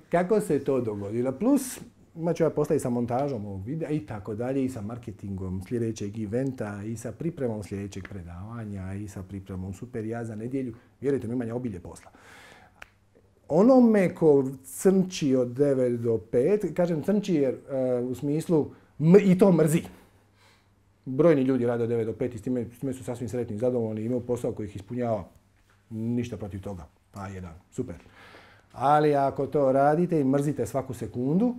Kako se to dogodilo? Plus, imat ću ja posla i sa montažom ovog videa i tako dalje, i sa marketingom sljedećeg eventa, i sa pripremom sljedećeg predavanja, i sa pripremom super ja za nedjelju. Vjerujte mi, imam ja obilje posla. Onome ko crnči od devet do pet, kažem crnči jer uh, u smislu m- i to mrzi. Brojni ljudi rade od devet do pet i s time, s time su sasvim sretni i zadovoljni, imaju posao koji ih ispunjava, ništa protiv toga. A jedan, super. Ali ako to radite i mrzite svaku sekundu,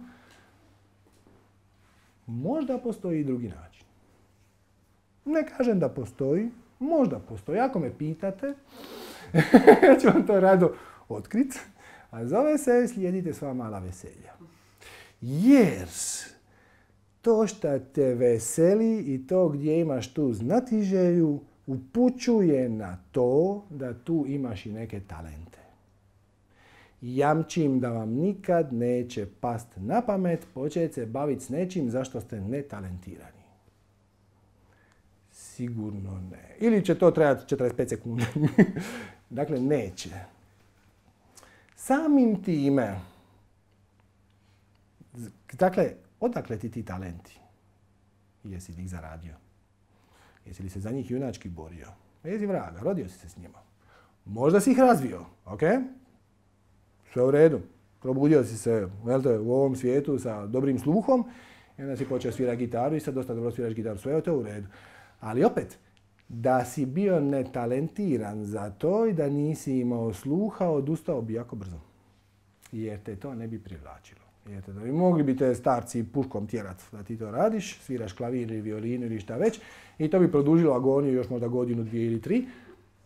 možda postoji i drugi način. Ne kažem da postoji, možda postoji. Ako me pitate, ja ću vam to rado otkrit, a zove se slijedite sva mala veselja. Jer to što te veseli i to gdje imaš tu znatiželju upućuje na to da tu imaš i neke talente. Jamčim da vam nikad neće past na pamet početi se baviti s nečim zašto ste netalentirani. Sigurno ne. Ili će to trajati četrdeset pet sekundi. Dakle, neće. Samim time, dakle, odakle ti ti talenti? Jesi li ih zaradio? Jesi li se za njih junački borio? Jesi vraga, rodio si se s njima. Možda si ih razvio, ok? Sve u redu. Probudio si se velte, u ovom svijetu sa dobrim sluhom i onda si počeo svirati gitaru i sad dosta dobro sviraš gitaru. Sve je to u redu. Ali opet, da si bio netalentiran za to i da nisi imao sluha, odustao bi jako brzo. Jer te to ne bi privlačilo. Jer te to bi mogli bi te starci puškom tjerat da ti to radiš, sviraš klavir ili violinu ili šta već i to bi produžilo agoniju još možda godinu, dvije ili tri,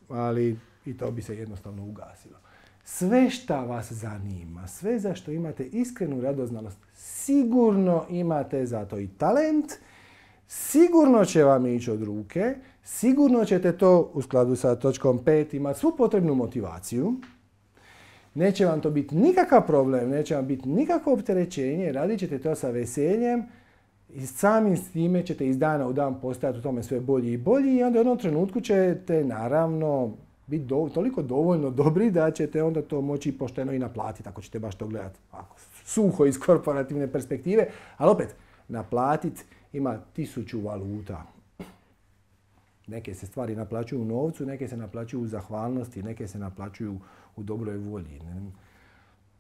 ali i to bi se jednostavno ugasilo. Sve šta vas zanima, sve za što imate iskrenu radoznalost, sigurno imate za to i talent, sigurno će vam ići od ruke, sigurno ćete to u skladu sa točkom pet imati svu potrebnu motivaciju. Neće vam to biti nikakav problem, neće vam biti nikakvo opterećenje, radit ćete to sa veseljem i samim s time ćete iz dana u dan postajati u tome sve bolji i bolji i onda u jednom trenutku ćete naravno biti do, toliko dovoljno dobri da ćete onda to moći pošteno i naplatiti ako ćete baš to gledati ako, suho iz korporativne perspektive, ali opet naplatiti ima tisuću valuta. Neke se stvari naplaćuju u novcu, neke se naplaćuju u zahvalnosti, neke se naplaćuju u dobroj volji.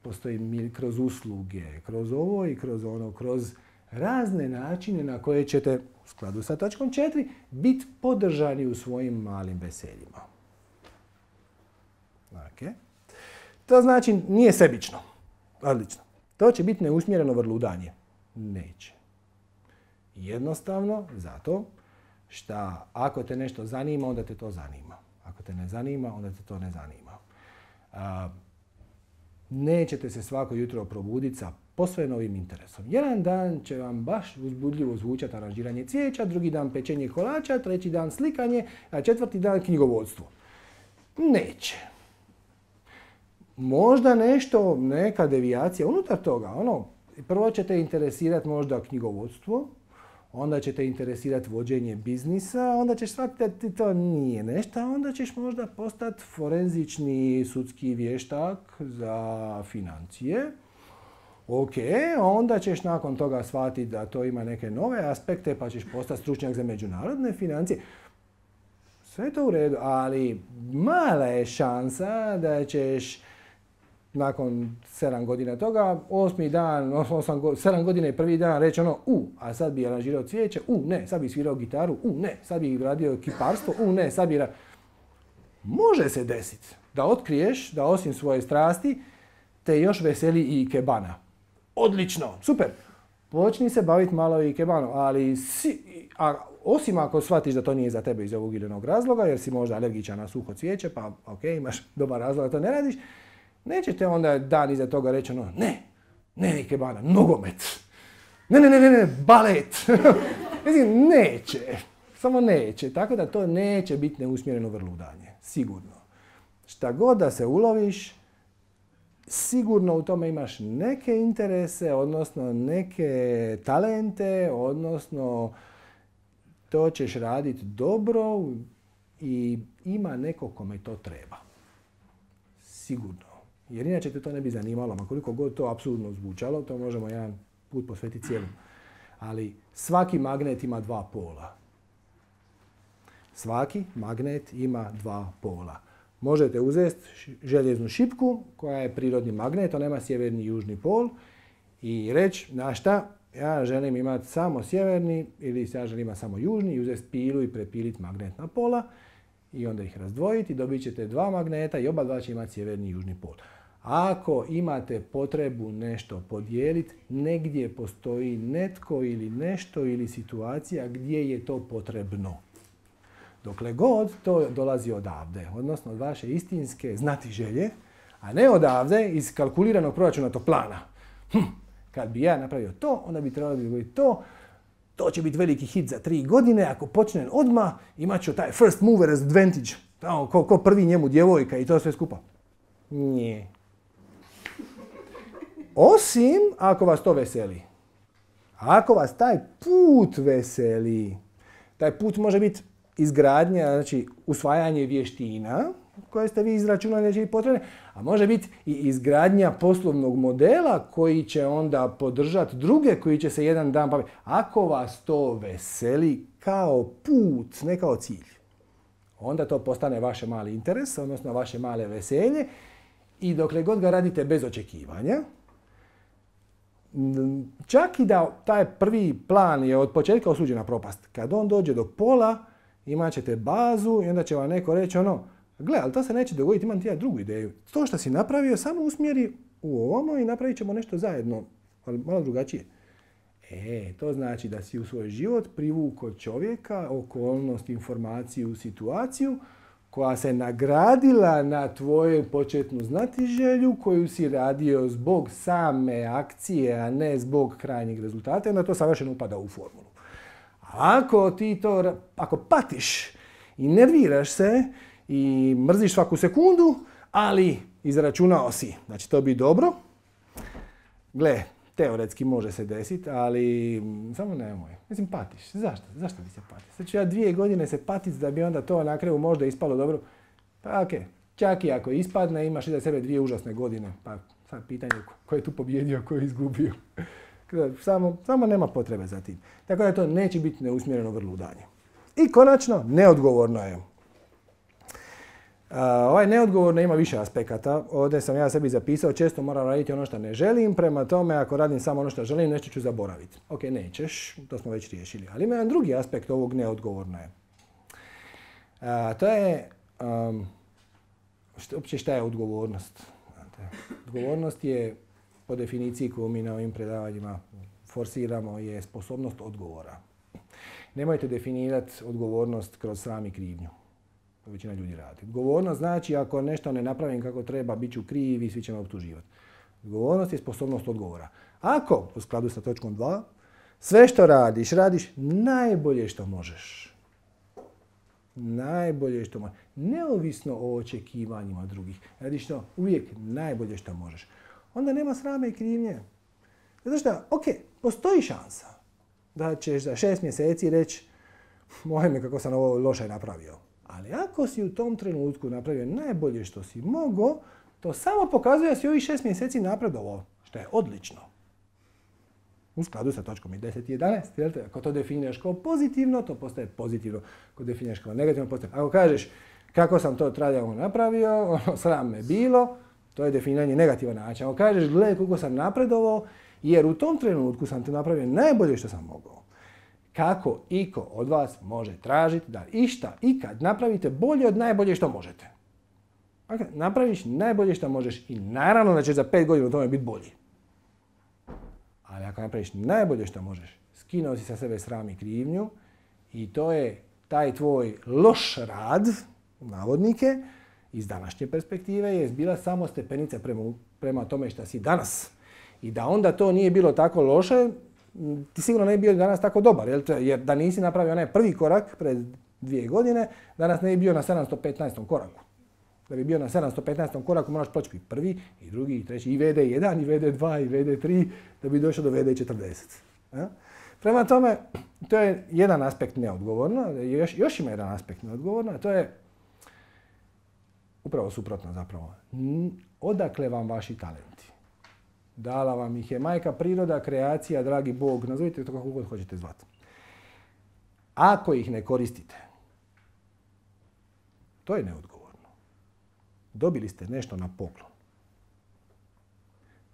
Postoji kroz usluge, kroz ovo i kroz ono, kroz razne načine na koje ćete, u skladu sa točkom četiri, biti podržani u svojim malim veseljima. Okay. To znači nije sebično. Odlično. To će biti neusmjereno vrludanje. Neće. Jednostavno zato što ako te nešto zanima, onda te to zanima. Ako te ne zanima, onda te to ne zanima. A, nećete se svako jutro probuditi sa posve novim interesom. Jedan dan će vam baš uzbudljivo zvučati aranžiranje cvijeća, drugi dan pečenje kolača, treći dan slikanje, a četvrti dan knjigovodstvo. Neće. Možda nešto, neka devijacija unutar toga. Ono, prvo ćete interesirati možda knjigovodstvo, onda će te interesirati vođenje biznisa, onda ćeš shvatiti da ti to nije nešto, onda ćeš možda postati forenzični sudski vještak za financije. Ok, onda ćeš nakon toga shvatiti da to ima neke nove aspekte, pa ćeš postati stručnjak za međunarodne financije. Sve je to u redu, ali mala je šansa da ćeš nakon sedam godina toga, osmi dan, osam, sedam godina i prvi dan reći ono, u, a sad bi aranžirao cvijeće, u, ne, sad bi svirao gitaru, u, ne, sad bi radio kiparstvo, u, ne, sad bi... Ra... Može se desiti da otkriješ da osim svoje strasti te još veseli i ikebana. Odlično, super. Počni se baviti malo i ikebanom, ali si, a, osim ako shvatiš da to nije za tebe iz ovog ili onog razloga, jer si možda alergičan na suho cvijeće, pa ok, imaš dobar razlog da to ne radiš, nećete onda dan iza toga reći ono, ne, ne ikebana, nogomet, ne, ne, ne, ne, ne, balet. Mislim, neće, samo neće, tako da to neće biti neusmjereno vrludanje, sigurno. Šta god da se uloviš, sigurno u tome imaš neke interese, odnosno neke talente, odnosno to ćeš raditi dobro i ima neko kome to treba. Sigurno. Jer inače te to ne bi zanimalo, ma koliko god to apsurdno zvučalo, to možemo jedan put posvetiti cijelom. Ali svaki magnet ima dva pola. Svaki magnet ima dva pola. Možete uzeti željeznu šipku koja je prirodni magnet, ona ima sjeverni i južni pol i reći, na šta, ja želim imati samo sjeverni ili ja želim imati samo južni i uzeti pilu i prepiliti magnetna pola i onda ih razdvojiti i dobit ćete dva magneta i oba dva će imati sjeverni i južni pol. Ako imate potrebu nešto podijeliti, negdje postoji netko ili nešto ili situacija gdje je to potrebno. Dokle god to dolazi odavde, odnosno od vaše istinske znatiželje, A ne odavde iz kalkuliranog proračunatog plana. Hm, kad bi ja napravio to, onda bi trebalo biti to. To će biti veliki hit za tri godine. Ako počnem odmah, imat ću taj first mover advantage. Ko, ko prvi njemu djevojka i to sve skupa. Nije. Osim ako vas to veseli. Ako vas taj put veseli, taj put može biti izgradnja, znači usvajanje vještina koje ste vi izračunali da će biti potrebne, a može biti i izgradnja poslovnog modela koji će onda podržati druge koji će se jedan dan baviti. Ako vas to veseli kao put, ne kao cilj, onda to postane vaše mali interes, odnosno vaše male veselje i dokle god ga radite bez očekivanja, čak i da taj prvi plan je od početka osuđen na propast, kad on dođe do pola, imat ćete bazu i onda će vam neko reći ono, gle, ali to se neće dogoditi, imam ti ja drugu ideju. To što si napravio, samo usmjeri u ovomu i napravit ćemo nešto zajedno, ali malo drugačije. E, to znači da si u svoj život privukao čovjeka, okolnost, informaciju, situaciju koja se nagradila na tvoju početnu znatiželju koju si radio zbog same akcije, a ne zbog krajnjeg rezultata, onda to savršeno upada u formulu. Ako ti to, ako patiš i nerviraš se i mrziš svaku sekundu, ali izračunao si da će to biti dobro, gle, teoretski može se desiti, ali samo nemoj. Mislim, patiš. Zašto? Zašto bi se patio? Sad ću ja dvije godine se patiti da bi onda to na kraju možda ispalo dobro. Pa okej, okay. Čak i ako ispadne, imaš iza sebe dvije užasne godine. Pa sad pitanje ko je tu pobjedio, ko je izgubio. Samo, samo nema potrebe za tim. Tako da to neće biti neusmjereno vrludanje. I konačno, neodgovorno je. Uh, ovaj neodgovorno ima više aspekata. Ovdje sam ja sebi zapisao, često moram raditi ono što ne želim, prema tome ako radim samo ono što želim, nešto ću zaboraviti. Ok, nećeš, to smo već riješili. Ali ima jedan drugi aspekt ovog neodgovorno je. Uh, to je, um, što, uopće šta je odgovornost? Znate, odgovornost je, po definiciji koju mi na ovim predavanjima forsiramo, je sposobnost odgovora. Nemojte definirati odgovornost kroz sram i krivnju. To većina ljudi radi. Odgovornost znači ako nešto ne napravim kako treba, bit ću kriv i svi će me optuživati. Odgovornost je sposobnost odgovora. Ako, u skladu sa točkom dva, sve što radiš, radiš najbolje što možeš. Najbolje što možeš. Neovisno o očekivanjima drugih. Radiš to uvijek najbolje što možeš. Onda nema srame i krivnje. Zato što, ok, postoji šansa da ćeš za šest mjeseci reći moj me kako sam ovo loše napravio. Ali ako si u tom trenutku napravio najbolje što si mogao, to samo pokazuje da si ovih šest mjeseci napredovao, što je odlično. U skladu sa točkom i deset i jedanaest. Ako to definiraš kao pozitivno, to postaje pozitivno. Ako definiraš kao negativno, postaje. Ako kažeš kako sam to traljavo napravio, ono, sram me bilo, to je definiranje negativan način. Ako kažeš gledaj koliko sam napredovao, jer u tom trenutku sam te napravio najbolje što sam mogao. Kako iko od vas može tražiti da išta ikad napravite bolje od najbolje što možete? Dakle, napraviš najbolje što možeš i naravno da će za pet godina u tome biti bolji. Ali ako napraviš najbolje što možeš, skinuo si sa sebe sram i krivnju i to je taj tvoj loš rad, navodnike, iz današnje perspektive je bila samo stepenica prema, prema tome što si danas. I da onda to nije bilo tako loše, ti sigurno ne bi bio danas tako dobar, jer da nisi napravio onaj prvi korak pred dvije godine, danas ne bi bio na sedamsto petnaestom koraku. Da bi bio na sedamsto petnaestom koraku moraš proći i prvi, i drugi, i treći, i V D jedan, i V D dva, i V D tri, da bi došao do V D četrdeset. Ja? Prema tome, to je jedan aspekt neodgovorno, još, još ima jedan aspekt neodgovorno, a to je upravo suprotno zapravo. Odakle vam vaši talenti? Dala vam ih je majka priroda, kreacija, dragi Bog, nazovite to kako god hoćete zvati. Ako ih ne koristite, to je neodgovorno. Dobili ste nešto na poklon.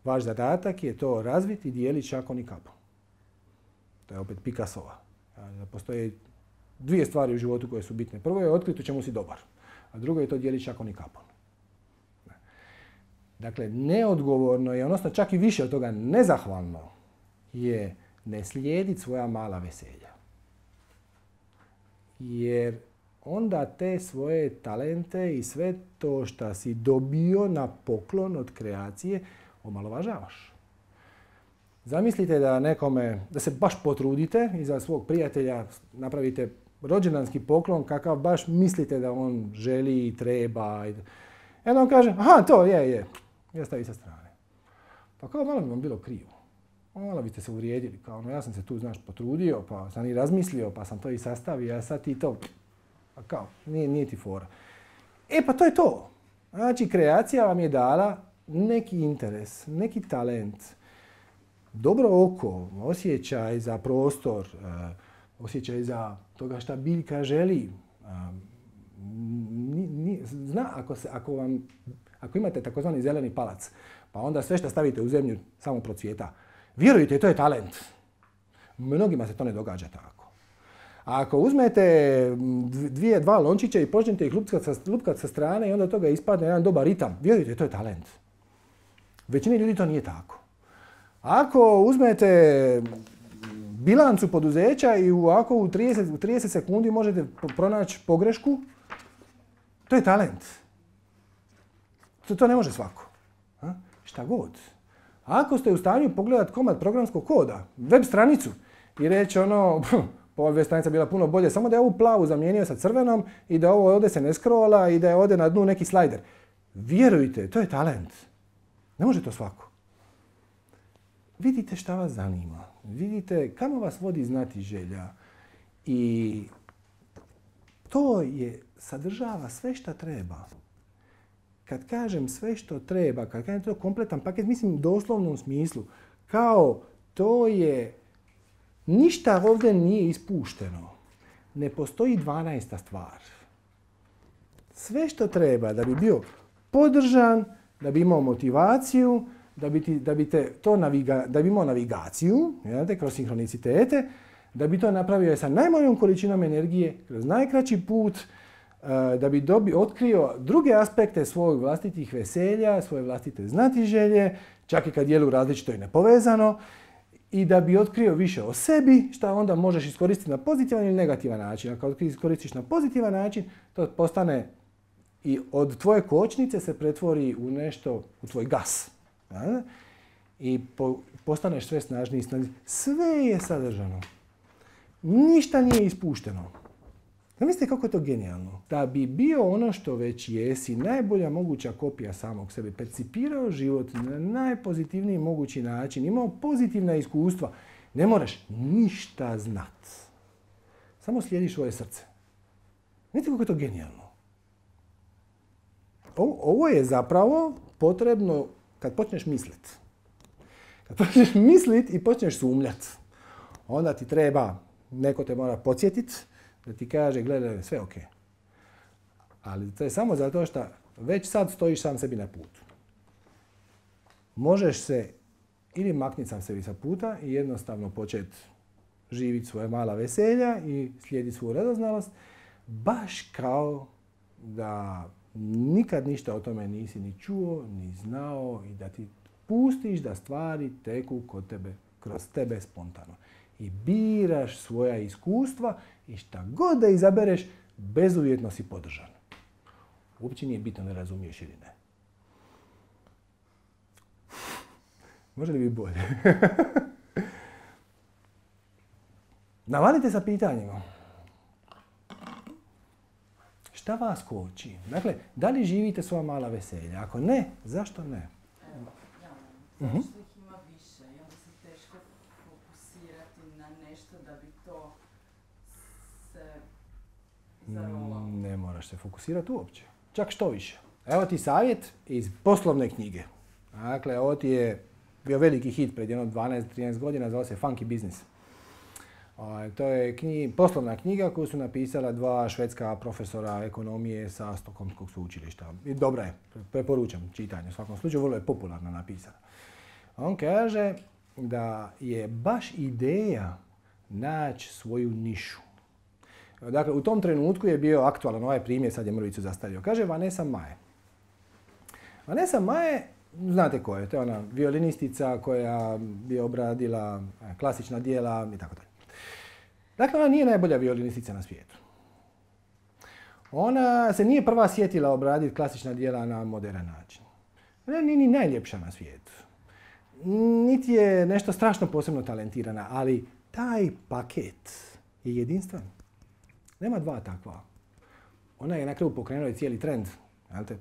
Vaš zadatak je to razviti i dijeliti šakom i kapom. To je opet Picassova. Postoje dvije stvari u životu koje su bitne. Prvo je otkriti u čemu si dobar, a drugo je to dijeliti šakom i kapom. Dakle, neodgovorno je, odnosno čak i više od toga nezahvalno, je ne slijediti svoja mala veselja. Jer onda te svoje talente i sve to što si dobio na poklon od kreacije omalovažavaš. Zamislite da nekome, da se baš potrudite i za svog prijatelja napravite rođendanski poklon kakav baš mislite da on želi i treba. I onda on kaže, aha, to je, je, ja stavi sa strane. Pa kao malo bi vam bilo krivo. Malo biste se uvrijedili, kao ono, ja sam se tu, znaš, potrudio, pa sam i razmislio, pa sam to i sastavio, a sad ti to, pa kao, nije, nije ti fora. E pa to je to. Znači, kreacija vam je dala neki interes, neki talent, dobro oko, osjećaj za prostor, osjećaj za toga šta biljka želi. Zna, ako, se, ako, vam, ako imate takozvani zeleni palac, pa onda sve što stavite u zemlju samo procvjeta. Vjerujte, to je talent. Mnogima se to ne događa tako. A ako uzmete dvije, dva lončića i počnete ih lupkat sa, lupkat sa strane i onda od toga ispadne jedan dobar ritam, vjerujte, to je talent. Većini ljudi to nije tako. Ako uzmete bilancu poduzeća i u, ako u trideset, u trideset sekundi možete pronaći pogrešku, to je talent. To, to ne može svako. A? Šta god. Ako ste u stanju pogledati komad programskog koda, web stranicu i reći ono, pa ova web stranica bila puno bolje, samo da je ovu plavu zamijenio sa crvenom i da ovo ovdje se ne scrolla i da je ovdje na dnu neki slajder. Vjerujte, to je talent. Ne može to svako. Vidite šta vas zanima. Vidite kamo vas vodi znati želja. I to je, sadržava sve što treba. Kad kažem sve što treba, kad kažem to kompletan paket, mislim u doslovnom smislu. Kao to je, ništa ovdje nije ispušteno. Ne postoji dvanaesta stvar. Sve što treba da bi bio podržan, da bi imao motivaciju, da bi, ti, da bi, te to naviga, da bi imao navigaciju, jel, kroz sinhronicitete, da bi to napravio sa najmanjom količinom energije, kroz najkraći put, da bi dobi, otkrio druge aspekte svojih vlastitih veselja, svoje vlastite znatiželje, čak i kad djeluju različito i nepovezano, i da bi otkrio više o sebi, što onda možeš iskoristiti na pozitivan ili negativan način. A kad iskoristiš na pozitivan način, to postane i od tvoje kočnice se pretvori u nešto, u tvoj gas. Ja? I po, postaneš sve snažniji i snažniji. Sve je sadržano. Ništa nije ispušteno. Zamislite kako je to genijalno. Da bi bio ono što već jesi, najbolja moguća kopija samog sebe, percipirao život na najpozitivniji mogući način, imao pozitivna iskustva, ne moraš ništa znat. Samo slijediš svoje srce. Vidite kako je to genijalno. Ovo, ovo je zapravo potrebno kad počneš misliti. Kad počneš misliti i počneš sumnjati, onda ti treba, neko te mora podsjetiti, da ti kaže, gledaj, sve ok. Ali to je samo zato što već sad stojiš sam sebi na putu. Možeš se ili makniti sam sebi sa puta i jednostavno početi živjeti svoje mala veselja i slijediti svoju radoznalost, baš kao da nikad ništa o tome nisi ni čuo, ni znao i da ti pustiš da stvari teku kod tebe, kroz tebe spontano. I biraš svoja iskustva i šta god da izabereš, bezuvjetno si podržan. Uopće nije bitno ne razumiješ ili ne. Može li biti bolje? Navalite sa pitanjima. Šta vas koči? Dakle, da li živite svoja mala veselja? Ako ne, zašto ne? Evo, ja uh-huh. Zašto ih ima više i onda se teško fokusirati na nešto da bi to se zarolalo. Ne moraš se fokusirati uopće. Čak što više. Evo ti savjet iz poslovne knjige. Dakle, ovo ti je bio veliki hit pred jedno dvanaest trinaest godina, zvao se Funky Business. To je knji, poslovna knjiga koju su napisala dva švedska profesora ekonomije sa Stokholmskog sveučilišta. I dobra je, preporučam čitanje. U svakom slučaju vrlo je popularno napisana. On kaže da je baš ideja naći svoju nišu. Dakle, u tom trenutku je bio aktualan ovaj primjer, sad je mrvicu zastario. Kaže Vanessa Mae. Vanessa Mae, znate ko je, to je ona violinistica koja je obradila klasična djela i tako dalje. Dakle, ona nije najbolja violinistica na svijetu. Ona se nije prva sjetila obraditi klasična djela na modern način. Ona nije ni najljepša na svijetu. Niti je nešto strašno posebno talentirana, ali taj paket je jedinstven. Nema dva takva. Ona je na kraju pokrenula i cijeli trend.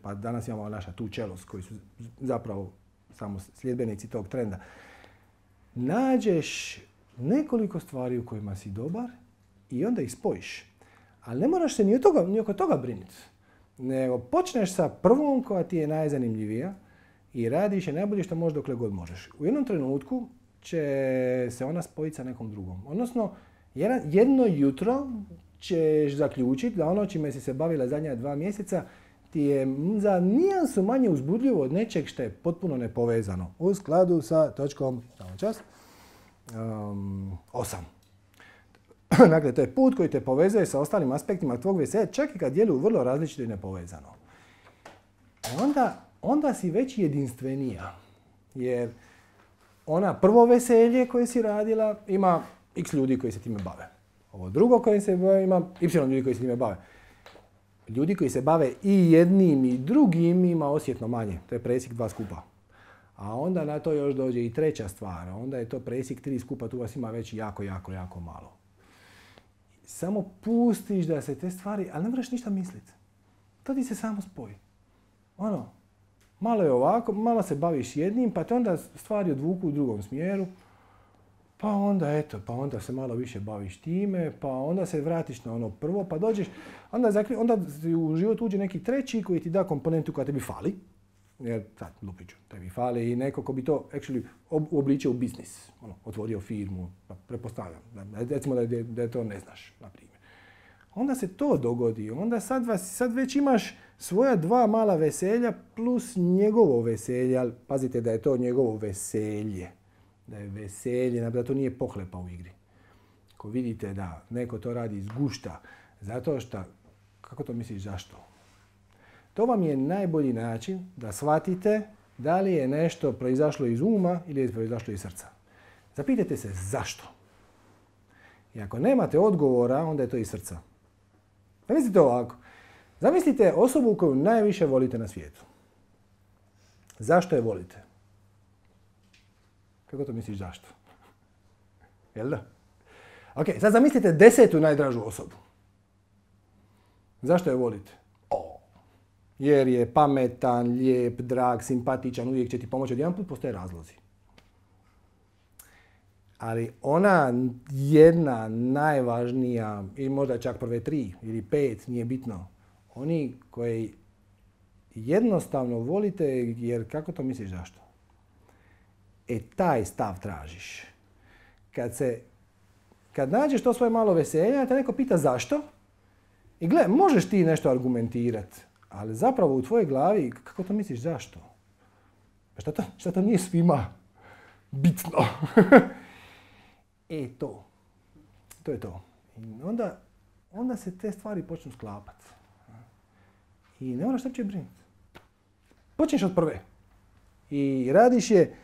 Pa danas imamo naša tu čelos koji su zapravo samo sljedbenici tog trenda. Nađeš nekoliko stvari u kojima si dobar i onda ih spojiš. Ali ne moraš se ni, od toga, ni oko toga brinuti. Nego počneš sa prvom koja ti je najzanimljivija i radiš je najbolje što možeš dokle god možeš. U jednom trenutku će se ona spojiti sa nekom drugom. Odnosno, jedno jutro ćeš zaključiti da ono čime si se bavila zadnja dva mjeseca ti je za nijansu manje uzbudljivo od nečeg što je potpuno nepovezano. U skladu sa točkom, samo čas, um, osam. Dakle, to je put koji te povezuje sa ostalim aspektima tvog veselja, čak i kad djeluju vrlo različito i nepovezano. Onda, onda si već jedinstvenija. Jer ona prvo veselje koje si radila ima x ljudi koji se time bave. Ovo drugo koje se bave ima y ljudi koji se time bave. Ljudi koji se bave i jednim i drugim ima osjetno manje. To je presjek dva skupa. A onda na to još dođe i treća stvar. Onda je to presjek tri skupa, tu vas ima već jako, jako, jako malo. Samo pustiš da se te stvari, ali ne moraš ništa misliti. To ti se samo spoji. Ono, malo je ovako, malo se baviš jednim, pa te onda stvari odvuku u drugom smjeru. Pa onda eto, pa onda se malo više baviš time, pa onda se vratiš na ono prvo, pa dođeš, onda, zakri, onda u život uđe neki treći koji ti da komponentu koja tebi fali. Jer sad, lupiću, tebi fali i neko ko bi to actually uobličio u biznis. Ono, otvorio firmu, pretpostavljam. Recimo da, je, da je to ne znaš, na primjer. Onda se to dogodi, onda sad, vas, sad već imaš svoja dva mala veselja plus njegovo veselje, ali pazite da je to njegovo veselje. Da je veselje, da to nije pohlepa u igri. Ako vidite da neko to radi iz gušta, zato što, kako to misliš zašto? To vam je najbolji način da shvatite da li je nešto proizašlo iz uma ili je proizašlo iz srca. Zapitajte se zašto. I ako nemate odgovora, onda je to iz srca. Zamislite ovako. Zamislite osobu koju najviše volite na svijetu. Zašto je volite? Kako to misliš zašto? Jel da? Ok, sad zamislite desetu najdražu osobu. Zašto je volite? O, jer je pametan, lijep, drag, simpatičan, uvijek će ti pomoći. Od jedan put postoje razlozi. Ali ona jedna najvažnija, ili možda čak prve tri ili pet, nije bitno. Oni koji jednostavno volite, jer kako to misliš zašto? E, taj stav tražiš. Kad se, kad nađeš to svoje malo veselja, te neko pita zašto, i gle, možeš ti nešto argumentirati, ali zapravo u tvojoj glavi, kako to misliš zašto? Pa šta to, šta to nije svima bitno? E, to. To je to. I onda, onda se te stvari počnu sklapati. I ne moraš uopće brinuti. Počneš od prve. I radiš je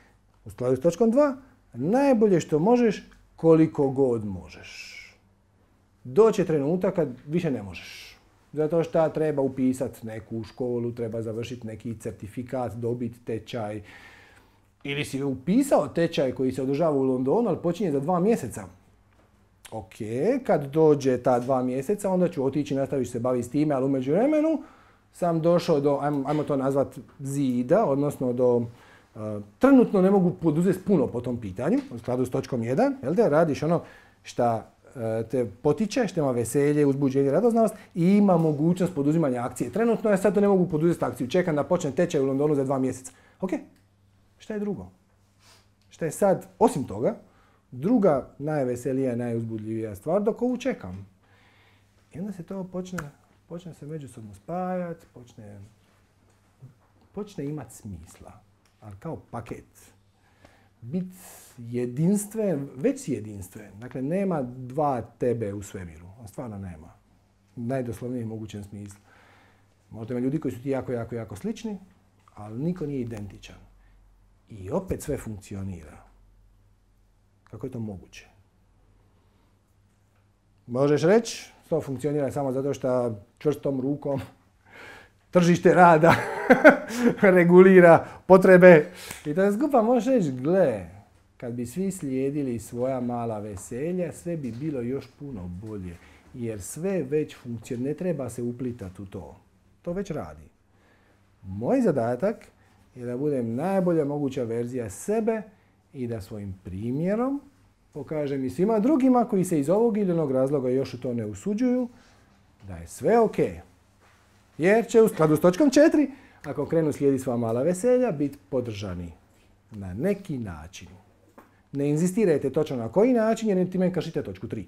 u skladu s točkom dva, najbolje što možeš, koliko god možeš. Doće trenutak kad više ne možeš. Zato što treba upisati neku školu, treba završiti neki certifikat, dobiti tečaj. Ili si upisao tečaj koji se održava u Londonu, ali počinje za dva mjeseca. Ok, kad dođe ta dva mjeseca, onda ću otići i nastaviš se baviti s time, ali u međuvremenu sam došao do, ajmo, ajmo to nazvati zida, odnosno do, uh, trenutno ne mogu poduzeti puno po tom pitanju, u skladu s točkom jedan, jel da radiš ono šta uh, te potiče, što ima veselje, uzbuđenje, radoznalost i ima mogućnost poduzimanja akcije. Trenutno ja sad to ne mogu poduzeti akciju, čekam da počne tečaj u Londonu za dva mjeseca. Ok, šta je drugo? Šta je sad, osim toga, druga najveselija, najuzbudljivija stvar dok ovu čekam. I onda se to počne, počne se međusobno spajati, počne, počne imati smisla, ali kao paket. Biti jedinstven, već si jedinstven. Dakle, nema dva tebe u svemiru. On stvarno nema. U najdoslovnijem mogućem smislu. Možda ima ljudi koji su ti jako, jako, jako slični, ali niko nije identičan. I opet sve funkcionira. Kako je to moguće? Možeš reći, to funkcionira samo zato što čvrstom rukom tržište rada regulira potrebe. I da skupa možeš reći, gle, kad bi svi slijedili svoja mala veselja, sve bi bilo još puno bolje. Jer sve već funkcionira, ne treba se uplitati u to. To već radi. Moj zadatak je da budem najbolja moguća verzija sebe i da svojim primjerom pokažem i svima drugima koji se iz ovog ili onog razloga još u to ne usuđuju, da je sve ok. Jer će u skladu s točkom četiri, ako krenu slijediti sva mala veselja, biti podržani na neki način. Ne inzistirajte točno na koji način, jer time kršite točku tri.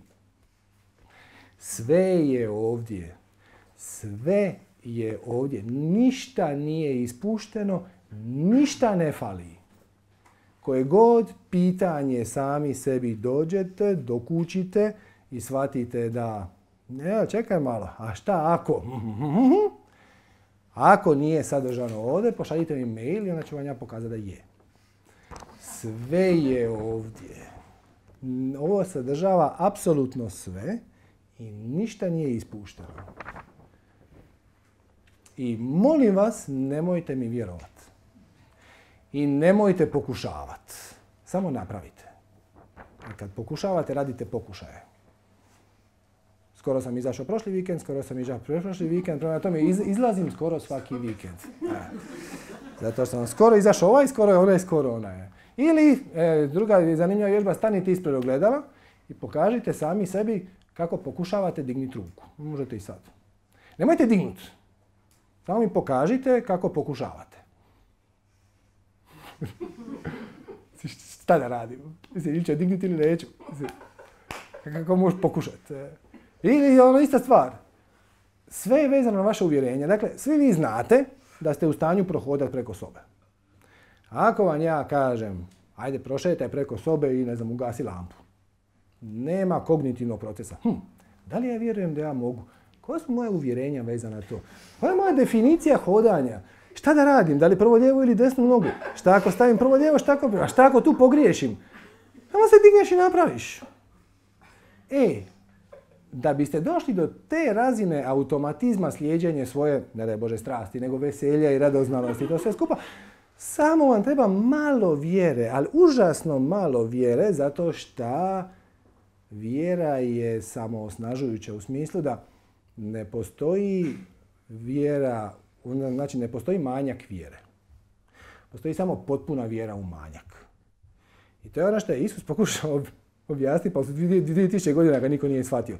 Sve je ovdje. Sve je ovdje. Ništa nije ispušteno, ništa ne fali. Koje god pitanje sami sebi dođete, dokučite i shvatite da, ne, čekaj malo, a šta ako? Ako nije sadržano ovdje, pošaljite mi mail i onda ću vam ja pokazati da je. Sve je ovdje. Ovo sadržava apsolutno sve i ništa nije ispušteno. I molim vas, nemojte mi vjerovati. I nemojte pokušavati. Samo napravite. I kad pokušavate, radite pokušaje. Skoro sam izašao prošli vikend, skoro sam izašao prošli vikend, prema tome izlazim skoro svaki vikend. E. Zato sam skoro izašao ovaj, skoro je onaj, skoro onaj. Ili, e, druga zanimljiva vježba, stanite ispred ogledala i pokažite sami sebi kako pokušavate dignuti ruku. Možete i sad. Nemojte dignuti. Samo mi pokažite kako pokušavate. Šta da radim? Mislim, ili ću dignuti ili neću. Kako možeš pokušati? Ili ono ista stvar. Sve je vezano na vaše uvjerenje. Dakle, svi vi znate da ste u stanju prohodati preko sobe. Ako vam ja kažem, ajde prošetaj preko sobe i ne znam, ugasi lampu. Nema kognitivnog procesa. Hm, da li ja vjerujem da ja mogu? Koja su moje uvjerenja vezana na to? Koja je moja definicija hodanja? Šta da radim? Da li prvo lijevo ili desnu nogu? Šta ako stavim prvo lijevo, šta ako, a šta ako tu pogriješim? Samo se digneš i napraviš. E, da biste došli do te razine automatizma slijeđenja svoje, ne daj Bože, strasti, nego veselja i radoznalosti, to sve skupa, samo vam treba malo vjere, ali užasno malo vjere, zato što vjera je samoosnažujuća u smislu da ne postoji vjera, znači ne postoji manjak vjere. Postoji samo potpuna vjera u manjak. I to je ono što je Isus pokušao objasniti, pa su dvije tisuće godina ga niko nije shvatio.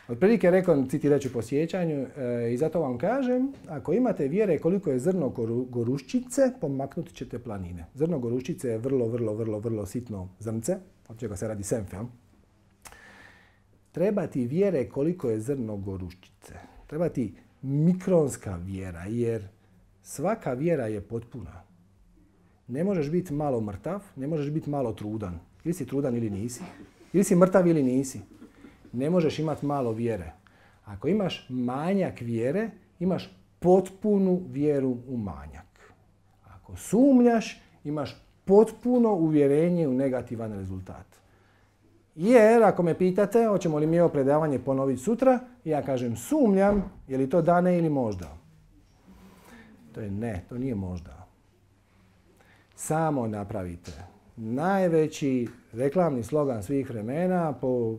Otprilike rekao, citirat ću po sjećanju, e, i zato vam kažem, ako imate vjere koliko je zrno goruščice, pomaknut ćete planine. Zrno goruščice je vrlo, vrlo, vrlo, vrlo sitno zrnce, od čega se radi senf, ja? Treba ti vjere koliko je zrno goruščice. Treba ti mikronska vjera, jer svaka vjera je potpuna. Ne možeš biti malo mrtav, ne možeš biti malo trudan. Ili si trudan ili nisi. Ili si mrtav ili nisi. Ne možeš imati malo vjere. Ako imaš manjak vjere, imaš potpunu vjeru u manjak. Ako sumnjaš, imaš potpuno uvjerenje u negativan rezultat. Jer, ako me pitate, hoćemo li mi ovo predavanje ponoviti sutra, ja kažem sumnjam, je li to da, ne ili možda? To je ne, to nije možda. Samo napravite. Najveći reklamni slogan svih vremena po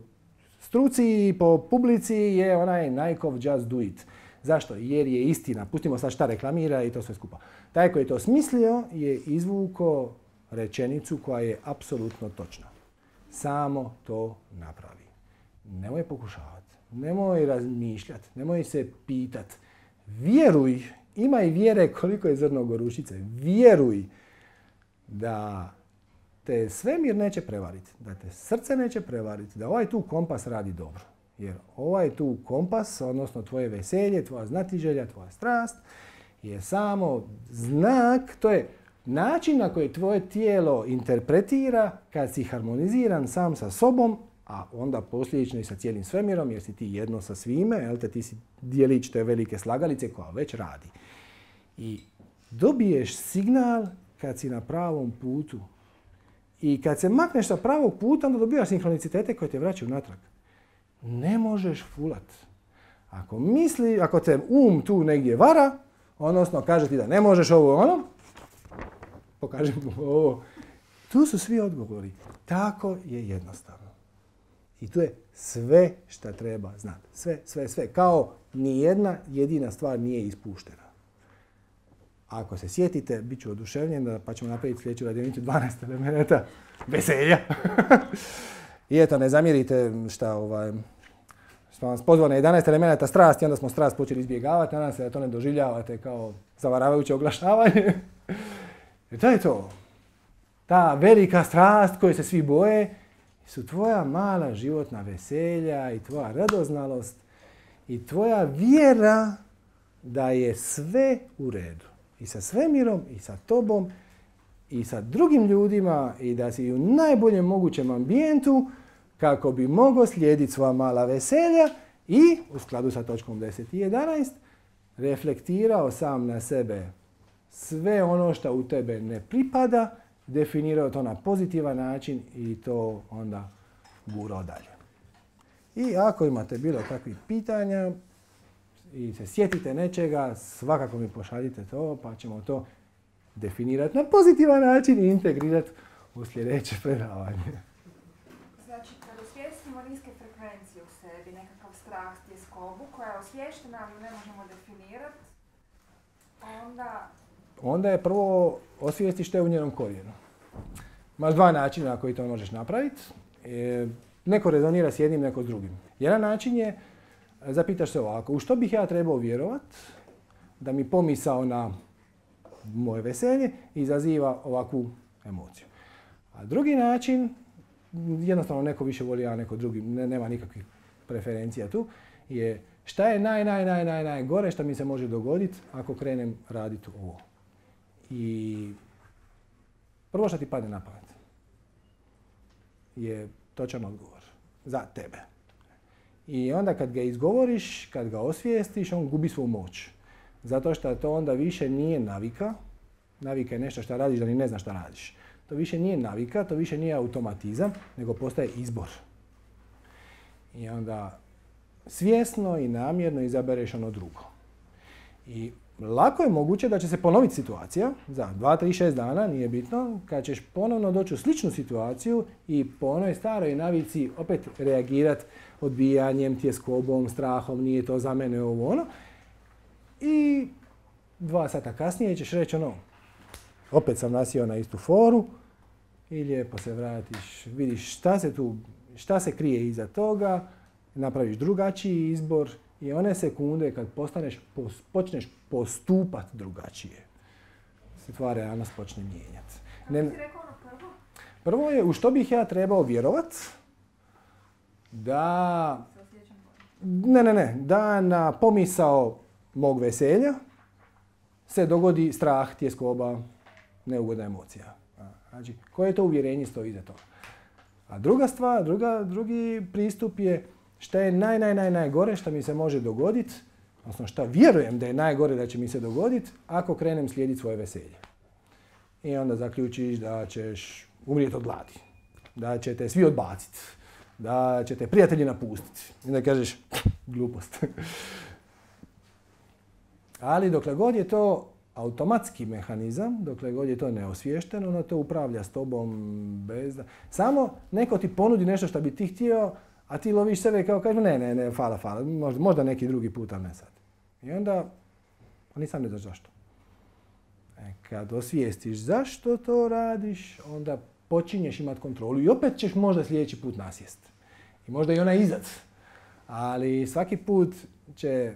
struci i po publici je onaj Nikeov Just Do It. Zašto? Jer je istina. Pustimo sad šta reklamira i to sve skupa. Taj koji je to smislio je izvuko rečenicu koja je apsolutno točna. Samo to napravi. Nemoj pokušavati. Nemoj razmišljati. Nemoj se pitati. Vjeruj. Imaj vjere koliko je zrno gorušice. Vjeruj da te svemir neće prevariti. Da te srce neće prevariti. Da ovaj tu kompas radi dobro. Jer ovaj tu kompas, odnosno tvoje veselje, tvoja znatiželja, tvoja strast, je samo znak, to je način na koji tvoje tijelo interpretira kad si harmoniziran sam sa sobom, a onda posljedično i sa cijelim svemirom, jer si ti jedno sa svime, jel te, ti si dijelić te velike slagalice koja već radi. I dobiješ signal kad si na pravom putu. I kad se makneš sa pravog puta, onda dobijaš sinhronicitete koje te vraćaju natrag. ne možeš fulat. Ako misli, ako te um tu negdje vara, odnosno kaže ti da ne možeš ovo ono, pokaži mu ovo. Tu su svi odgovori. Tako je jednostavno. I tu je sve što treba znati. Sve, sve, sve. Kao nijedna jedina stvar nije ispuštena. Ako se sjetite, bit ću oduševljen, pa ćemo napraviti sljedeću radionicu dvanaest elemenata veselja. I eto, ne zamjerite šta ovaj, smo vas pozvali na jedanaest elemenata strasti, onda smo strast počeli izbjegavati, nadam se da to ne doživljavate kao zavaravajuće oglašavanje. I to je to. Ta velika strast koju se svi boje su tvoja mala životna veselja i tvoja radoznalost i tvoja vjera da je sve u redu. I sa svemirom, i sa tobom, i sa drugim ljudima, i da si u najboljem mogućem ambijentu kako bi mogao slijediti svoja mala veselja i, u skladu sa točkom deset i jedanaest, reflektirao sam na sebe sve ono što u tebe ne pripada, definirao to na pozitivan način i to onda gurao dalje. I ako imate bilo kakvih pitanja i se sjetite nečega, svakako mi pošaljite to, pa ćemo to definirati na pozitivan način i integrirati u sljedeće predavanje. Znači, kad osvijestimo niske frekvencije u sebi, nekakav strah, tjeskobu koja je osviještena, ali ne možemo definirati, onda... Onda je prvo osvijesti što je u njenom korijenu. Imaš dva načina na koji to možeš napraviti. E, neko rezonira s jednim, neko s drugim. Jedan način je, zapitaš se ovako, u što bih ja trebao vjerovat da mi pomisao na moje veselje izaziva ovakvu emociju. A drugi način, jednostavno neko više voli, a neko drugi, ne, nema nikakvih preferencija tu, je šta je naj, naj, naj, naj, naj gore što mi se može dogoditi ako krenem raditi ovo. I prvo što ti padne na pamet je točan odgovor za tebe. I onda kad ga izgovoriš, kad ga osvijestiš, on gubi svoju moć. Zato što to onda više nije navika. Navika je nešto što radiš da ni ne znaš šta radiš. To više nije navika, to više nije automatizam, nego postaje izbor. I onda svjesno i namjerno izabereš ono drugo. I lako je moguće da će se ponoviti situacija za dva, tri, šest dana, nije bitno, kad ćeš ponovno doći u sličnu situaciju i po onoj staroj navici opet reagirati odbijanjem, tjeskobom, strahom, nije to za mene ovo ono. I dva sata kasnije ćeš reći ono, opet sam nasio na istu foru i lijepo se vratiš, vidiš šta se tu, šta se krije iza toga, napraviš drugačiji izbor i one sekunde kad postaneš, počneš postupati drugačije, se tvoja realnost počne mijenjati. Ne, ti rekao ono prvo? Prvo je u što bih ja trebao vjerovat da, ne, ne, ne, da na pomisao mog veselja se dogodi strah, tjeskoba, neugodna emocija. Znači, koje to uvjerenje stoji iza toga? A druga stvar, druga, drugi pristup je šta je naj, naj, naj, najgore što mi se može dogoditi, odnosno šta vjerujem da je najgore da će mi se dogoditi ako krenem slijediti svoje veselje. I onda zaključiš da ćeš umrijeti od gladi, da će te svi odbaciti, da će te prijatelji napustiti. I onda kažeš, glupost. Ali dokle god je to automatski mehanizam, dokle god je to neosviješteno, ono to upravlja s tobom bez da... Samo neko ti ponudi nešto što bi ti htio, a ti loviš sebe kao kažeš, ne, ne, ne, fala, fala, možda, možda neki drugi put, ali ne sad. I onda, nisam ne znaš zašto. E, kad osvijestiš zašto to radiš, onda počinješ imati kontrolu i opet ćeš možda sljedeći put nasjest. I možda i ona izad. Ali svaki put će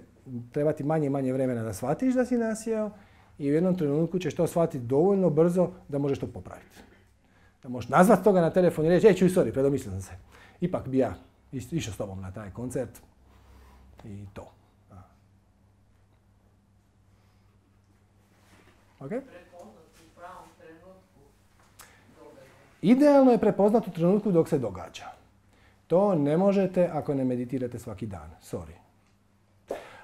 trebati manje i manje vremena da shvatiš da si nasjeo i u jednom trenutku ćeš to shvatiti dovoljno brzo da možeš to popraviti. Da možeš nazvati toga na telefon i reći, ej, čuj, sorry, predomislio sam se. Ipak bi ja išao s tobom na taj koncert i to. Okay? Idealno je prepoznati u trenutku dok se događa. To ne možete ako ne meditirate svaki dan. Sorry.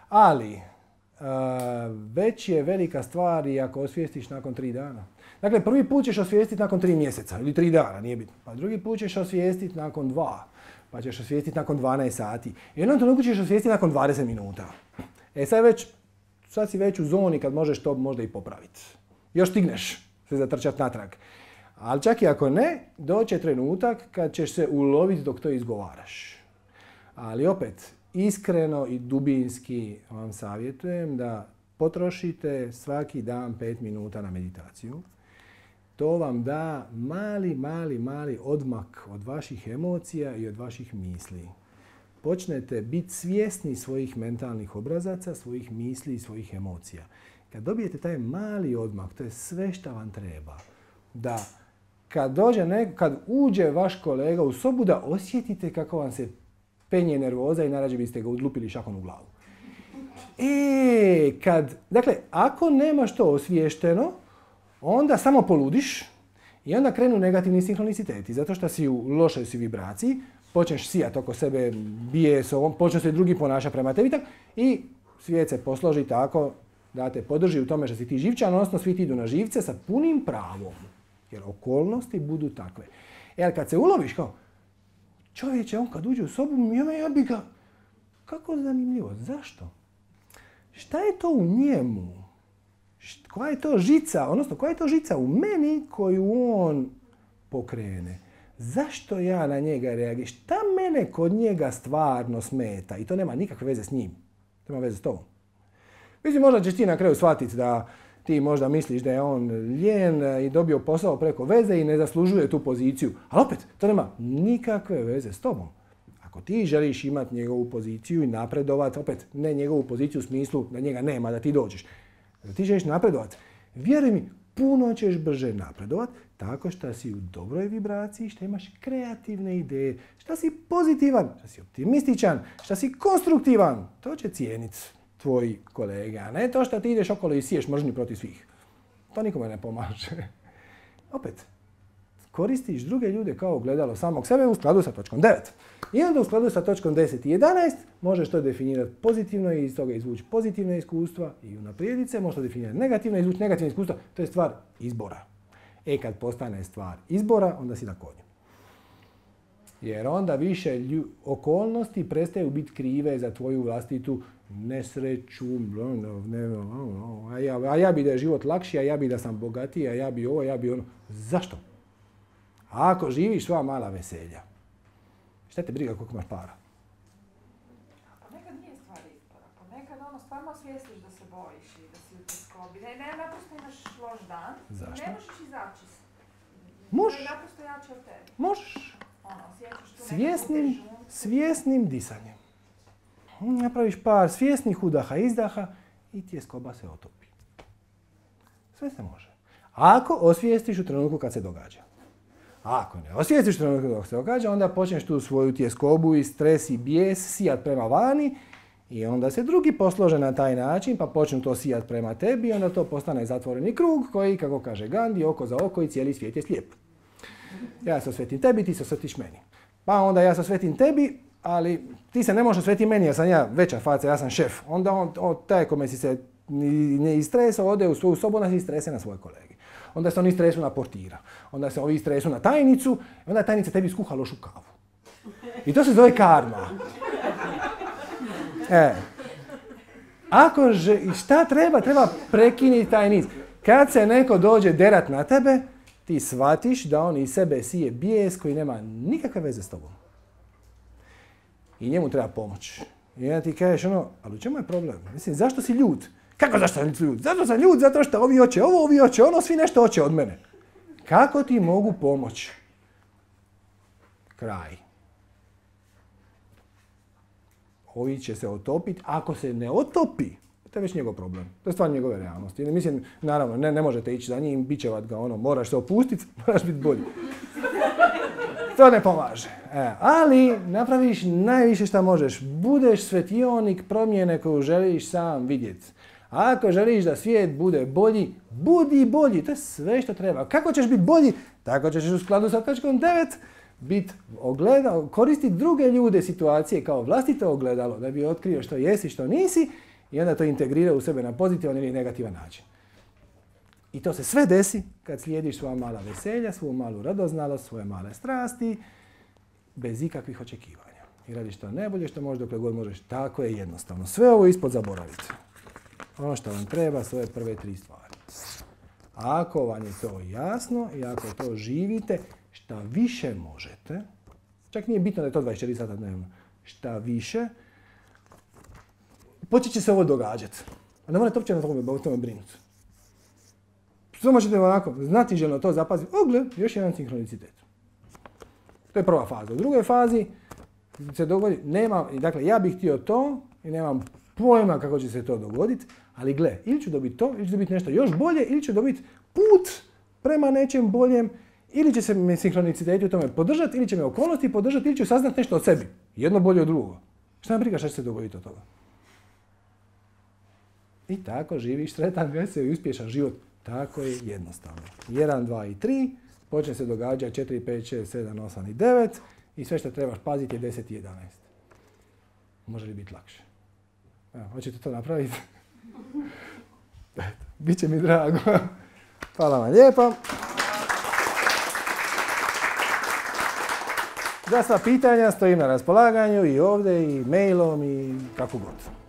Ali, uh, već je velika stvar i ako osvijestiš nakon tri dana. Dakle, prvi put ćeš osvijestiti nakon tri mjeseca ili tri dana, nije bitno. Pa drugi put ćeš osvijestiti nakon dva. pa ćeš osvijestiti nakon dvanaest sati. I u jednom trenutku ćeš osvijestiti nakon dvadeset minuta. E sad, već, sad si već u zoni kad možeš to možda i popraviti. Još stigneš se zatrčati natrag. Ali čak i ako ne, doće trenutak kad ćeš se uloviti dok to izgovaraš. Ali opet, iskreno i dubinski vam savjetujem da potrošite svaki dan pet minuta na meditaciju. To vam da mali, mali, mali odmak od vaših emocija i od vaših misli. Počnete biti svjesni svojih mentalnih obrazaca, svojih misli i svojih emocija. Kad dobijete taj mali odmak, to je sve što vam treba. Da kad, dođe neko, kad uđe vaš kolega u sobu, da osjetite kako vam se penje nervoza i najrađe biste ga odlupili šakom u glavu. E, kad, dakle, ako nemaš to osviješteno, onda samo poludiš i onda krenu negativni sinhroniciteti. Zato što si u lošoj si vibraciji, počneš sijati oko sebe bijesom, počne se drugi ponašati prema tebi i svijet se posloži tako da te podrži u tome što si ti živčan, odnosno svi ti idu na živce sa punim pravom. Jer okolnosti budu takve. E, ali kad se uloviš kao, čovječe, on kad uđe u sobu, ja bi ga, kako zanimljivo, zašto? Šta je to u njemu? Koja je to žica, odnosno koja je to žica u meni koju on pokrene? Zašto ja na njega reagiram? Šta mene kod njega stvarno smeta? I to nema nikakve veze s njim. To ima veze s tobom. Mislim, možda ćeš ti na kraju shvatiti da ti možda misliš da je on lijen i dobio posao preko veze i ne zaslužuje tu poziciju. Ali opet, to nema nikakve veze s tobom. Ako ti želiš imati njegovu poziciju i napredovati, opet ne njegovu poziciju u smislu da njega nema, da ti dođeš. Da ti želiš napredovati, vjeruj mi, puno ćeš brže napredovati tako što si u dobroj vibraciji, što imaš kreativne ideje, što si pozitivan, što si optimističan, što si konstruktivan. To će cijeniti tvoji kolege, a ne to što ti ideš okolo i siješ mržnju protiv svih. To nikome ne pomaže. Opet, koristiš druge ljude kao ogledalo samog sebe u skladu sa točkom devet. I onda u skladu sa točkom deset i jedanaest možeš to definirati pozitivno i iz toga izvući pozitivne iskustva i unaprijediti se, možeš to definirati negativno i izvući negativne iskustva. To je stvar izbora. E kad postane stvar izbora, onda si na konju. Jer onda više lju, okolnosti prestaju biti krive za tvoju vlastitu nesreću, a ja, a ja bi da je život lakši, a ja bi da sam bogatiji, a ja bi ovo, ja bi ono. Zašto? A ako živiš sva mala veselja, šta te briga koliko imaš para? Ponekad nije stvar izbora. Ponekad ono stvarno osvijestiš da se bojiš i da si u tjeskobi. Ne, ne, naprosto imaš loš dan. Zašto? Ne možeš izaći. Možeš. To je naprosto jače od tebi. Možeš. Ono, osjećaš tu Svjesnim, neku težinu. svjesnim disanjem. Napraviš par svjesnih udaha, izdaha i tjeskoba se otopi. Sve se može. Ako osvijestiš u trenutku kad se događa. A ako ne osvijestiš u trenutku dok se događa, onda počneš tu svoju tjeskobu i stres i bijes sijat prema vani i onda se drugi poslože na taj način pa počnu to sijat prema tebi i onda to postane zatvoreni krug koji, kako kaže Gandhi, oko za oko i cijeli svijet je slijep. Ja se osvetim tebi, ti se osvetiš meni. Pa onda ja se osvetim tebi, ali ti se ne možeš osvetiti meni jer sam ja veća faca, ja sam šef. Onda on, on taj kome si se ne istresao, ode u svoju sobu, onda si istrese na svoje kolege. Onda se oni stresu na portira. Onda se ovi stresu na tajnicu. I onda je tajnica tebi skuha lošu kavu. I to se zove karma. E. Ako že, šta treba? Treba prekinuti taj niz. Kad se neko dođe derat na tebe, ti shvatiš da on iz sebe sije bijes koji nema nikakve veze s tobom. I njemu treba pomoć. I onda ti kažeš ono, ali u čemu je problem? Mislim, zašto si ljut? Kako zašto sam ljut? Zato sam ljut, zato što ovi hoće ovo, ovi hoće ono, svi nešto hoće od mene. Kako ti mogu pomoći? Kraj. Ovi će se otopiti. Ako se ne otopi, to je već njegov problem. To je stvar njegove realnosti. Mislim, naravno, ne, ne možete ići za njim, bićevat ga ono, moraš se opustiti, moraš biti bolji. To ne pomaže. E, ali napraviš najviše što možeš. Budeš svetionik promjene koju želiš sam vidjeti. A ako želiš da svijet bude bolji, budi bolji. To je sve što treba. Kako ćeš biti bolji? Tako ćeš u skladu sa točkom devet biti ogledalo, koristiti druge ljude, situacije kao vlastito ogledalo da bi otkrio što jesi, što nisi i onda to integrira u sebe na pozitivan ili negativan način. I to se sve desi kad slijediš svoja mala veselja, svoju malu radoznalost, svoje male strasti bez ikakvih očekivanja. I radiš što najbolje što možeš dokle god možeš. Tako je jednostavno. Sve ovo ispod zaboravite. Ono što vam treba su ove prve tri stvari. Ako vam je to jasno i ako to živite, šta više možete, čak nije bitno da je to dvadeset četiri sata dnevno, šta više, počet će se ovo događati. A ne morate uopće na tome, o tome brinuti. Samo ćete onako znatiželjno to zapaziti. O, gle, još jedan sinkronicitet. To je prva faza. U drugoj fazi se dogodi, nemam, dakle, ja bih htio to i nemam pojma kako će se to dogoditi, ali gle, ili ću dobiti to, ili ću dobiti nešto još bolje, ili ću dobiti put prema nečem boljem, ili će se me sinkroniciteti u tome podržati, ili će me okolnosti podržati, ili ću saznati nešto o sebi. Jedno bolje od drugo. Šta me briga šta će se dogoditi od toga? I tako živiš sretan, vesel i uspješan život. Tako je jednostavno. jedan, dva i tri, počne se događati četiri, pet, šest, sedam, osam i devet i sve što trebaš paziti je deset i jedanaest. Može li biti lakše? Evo, hoćete to napraviti? Biće mi drago. Hvala vam lijepo. Za sva pitanja stojim na raspolaganju i ovdje i mailom i kako god.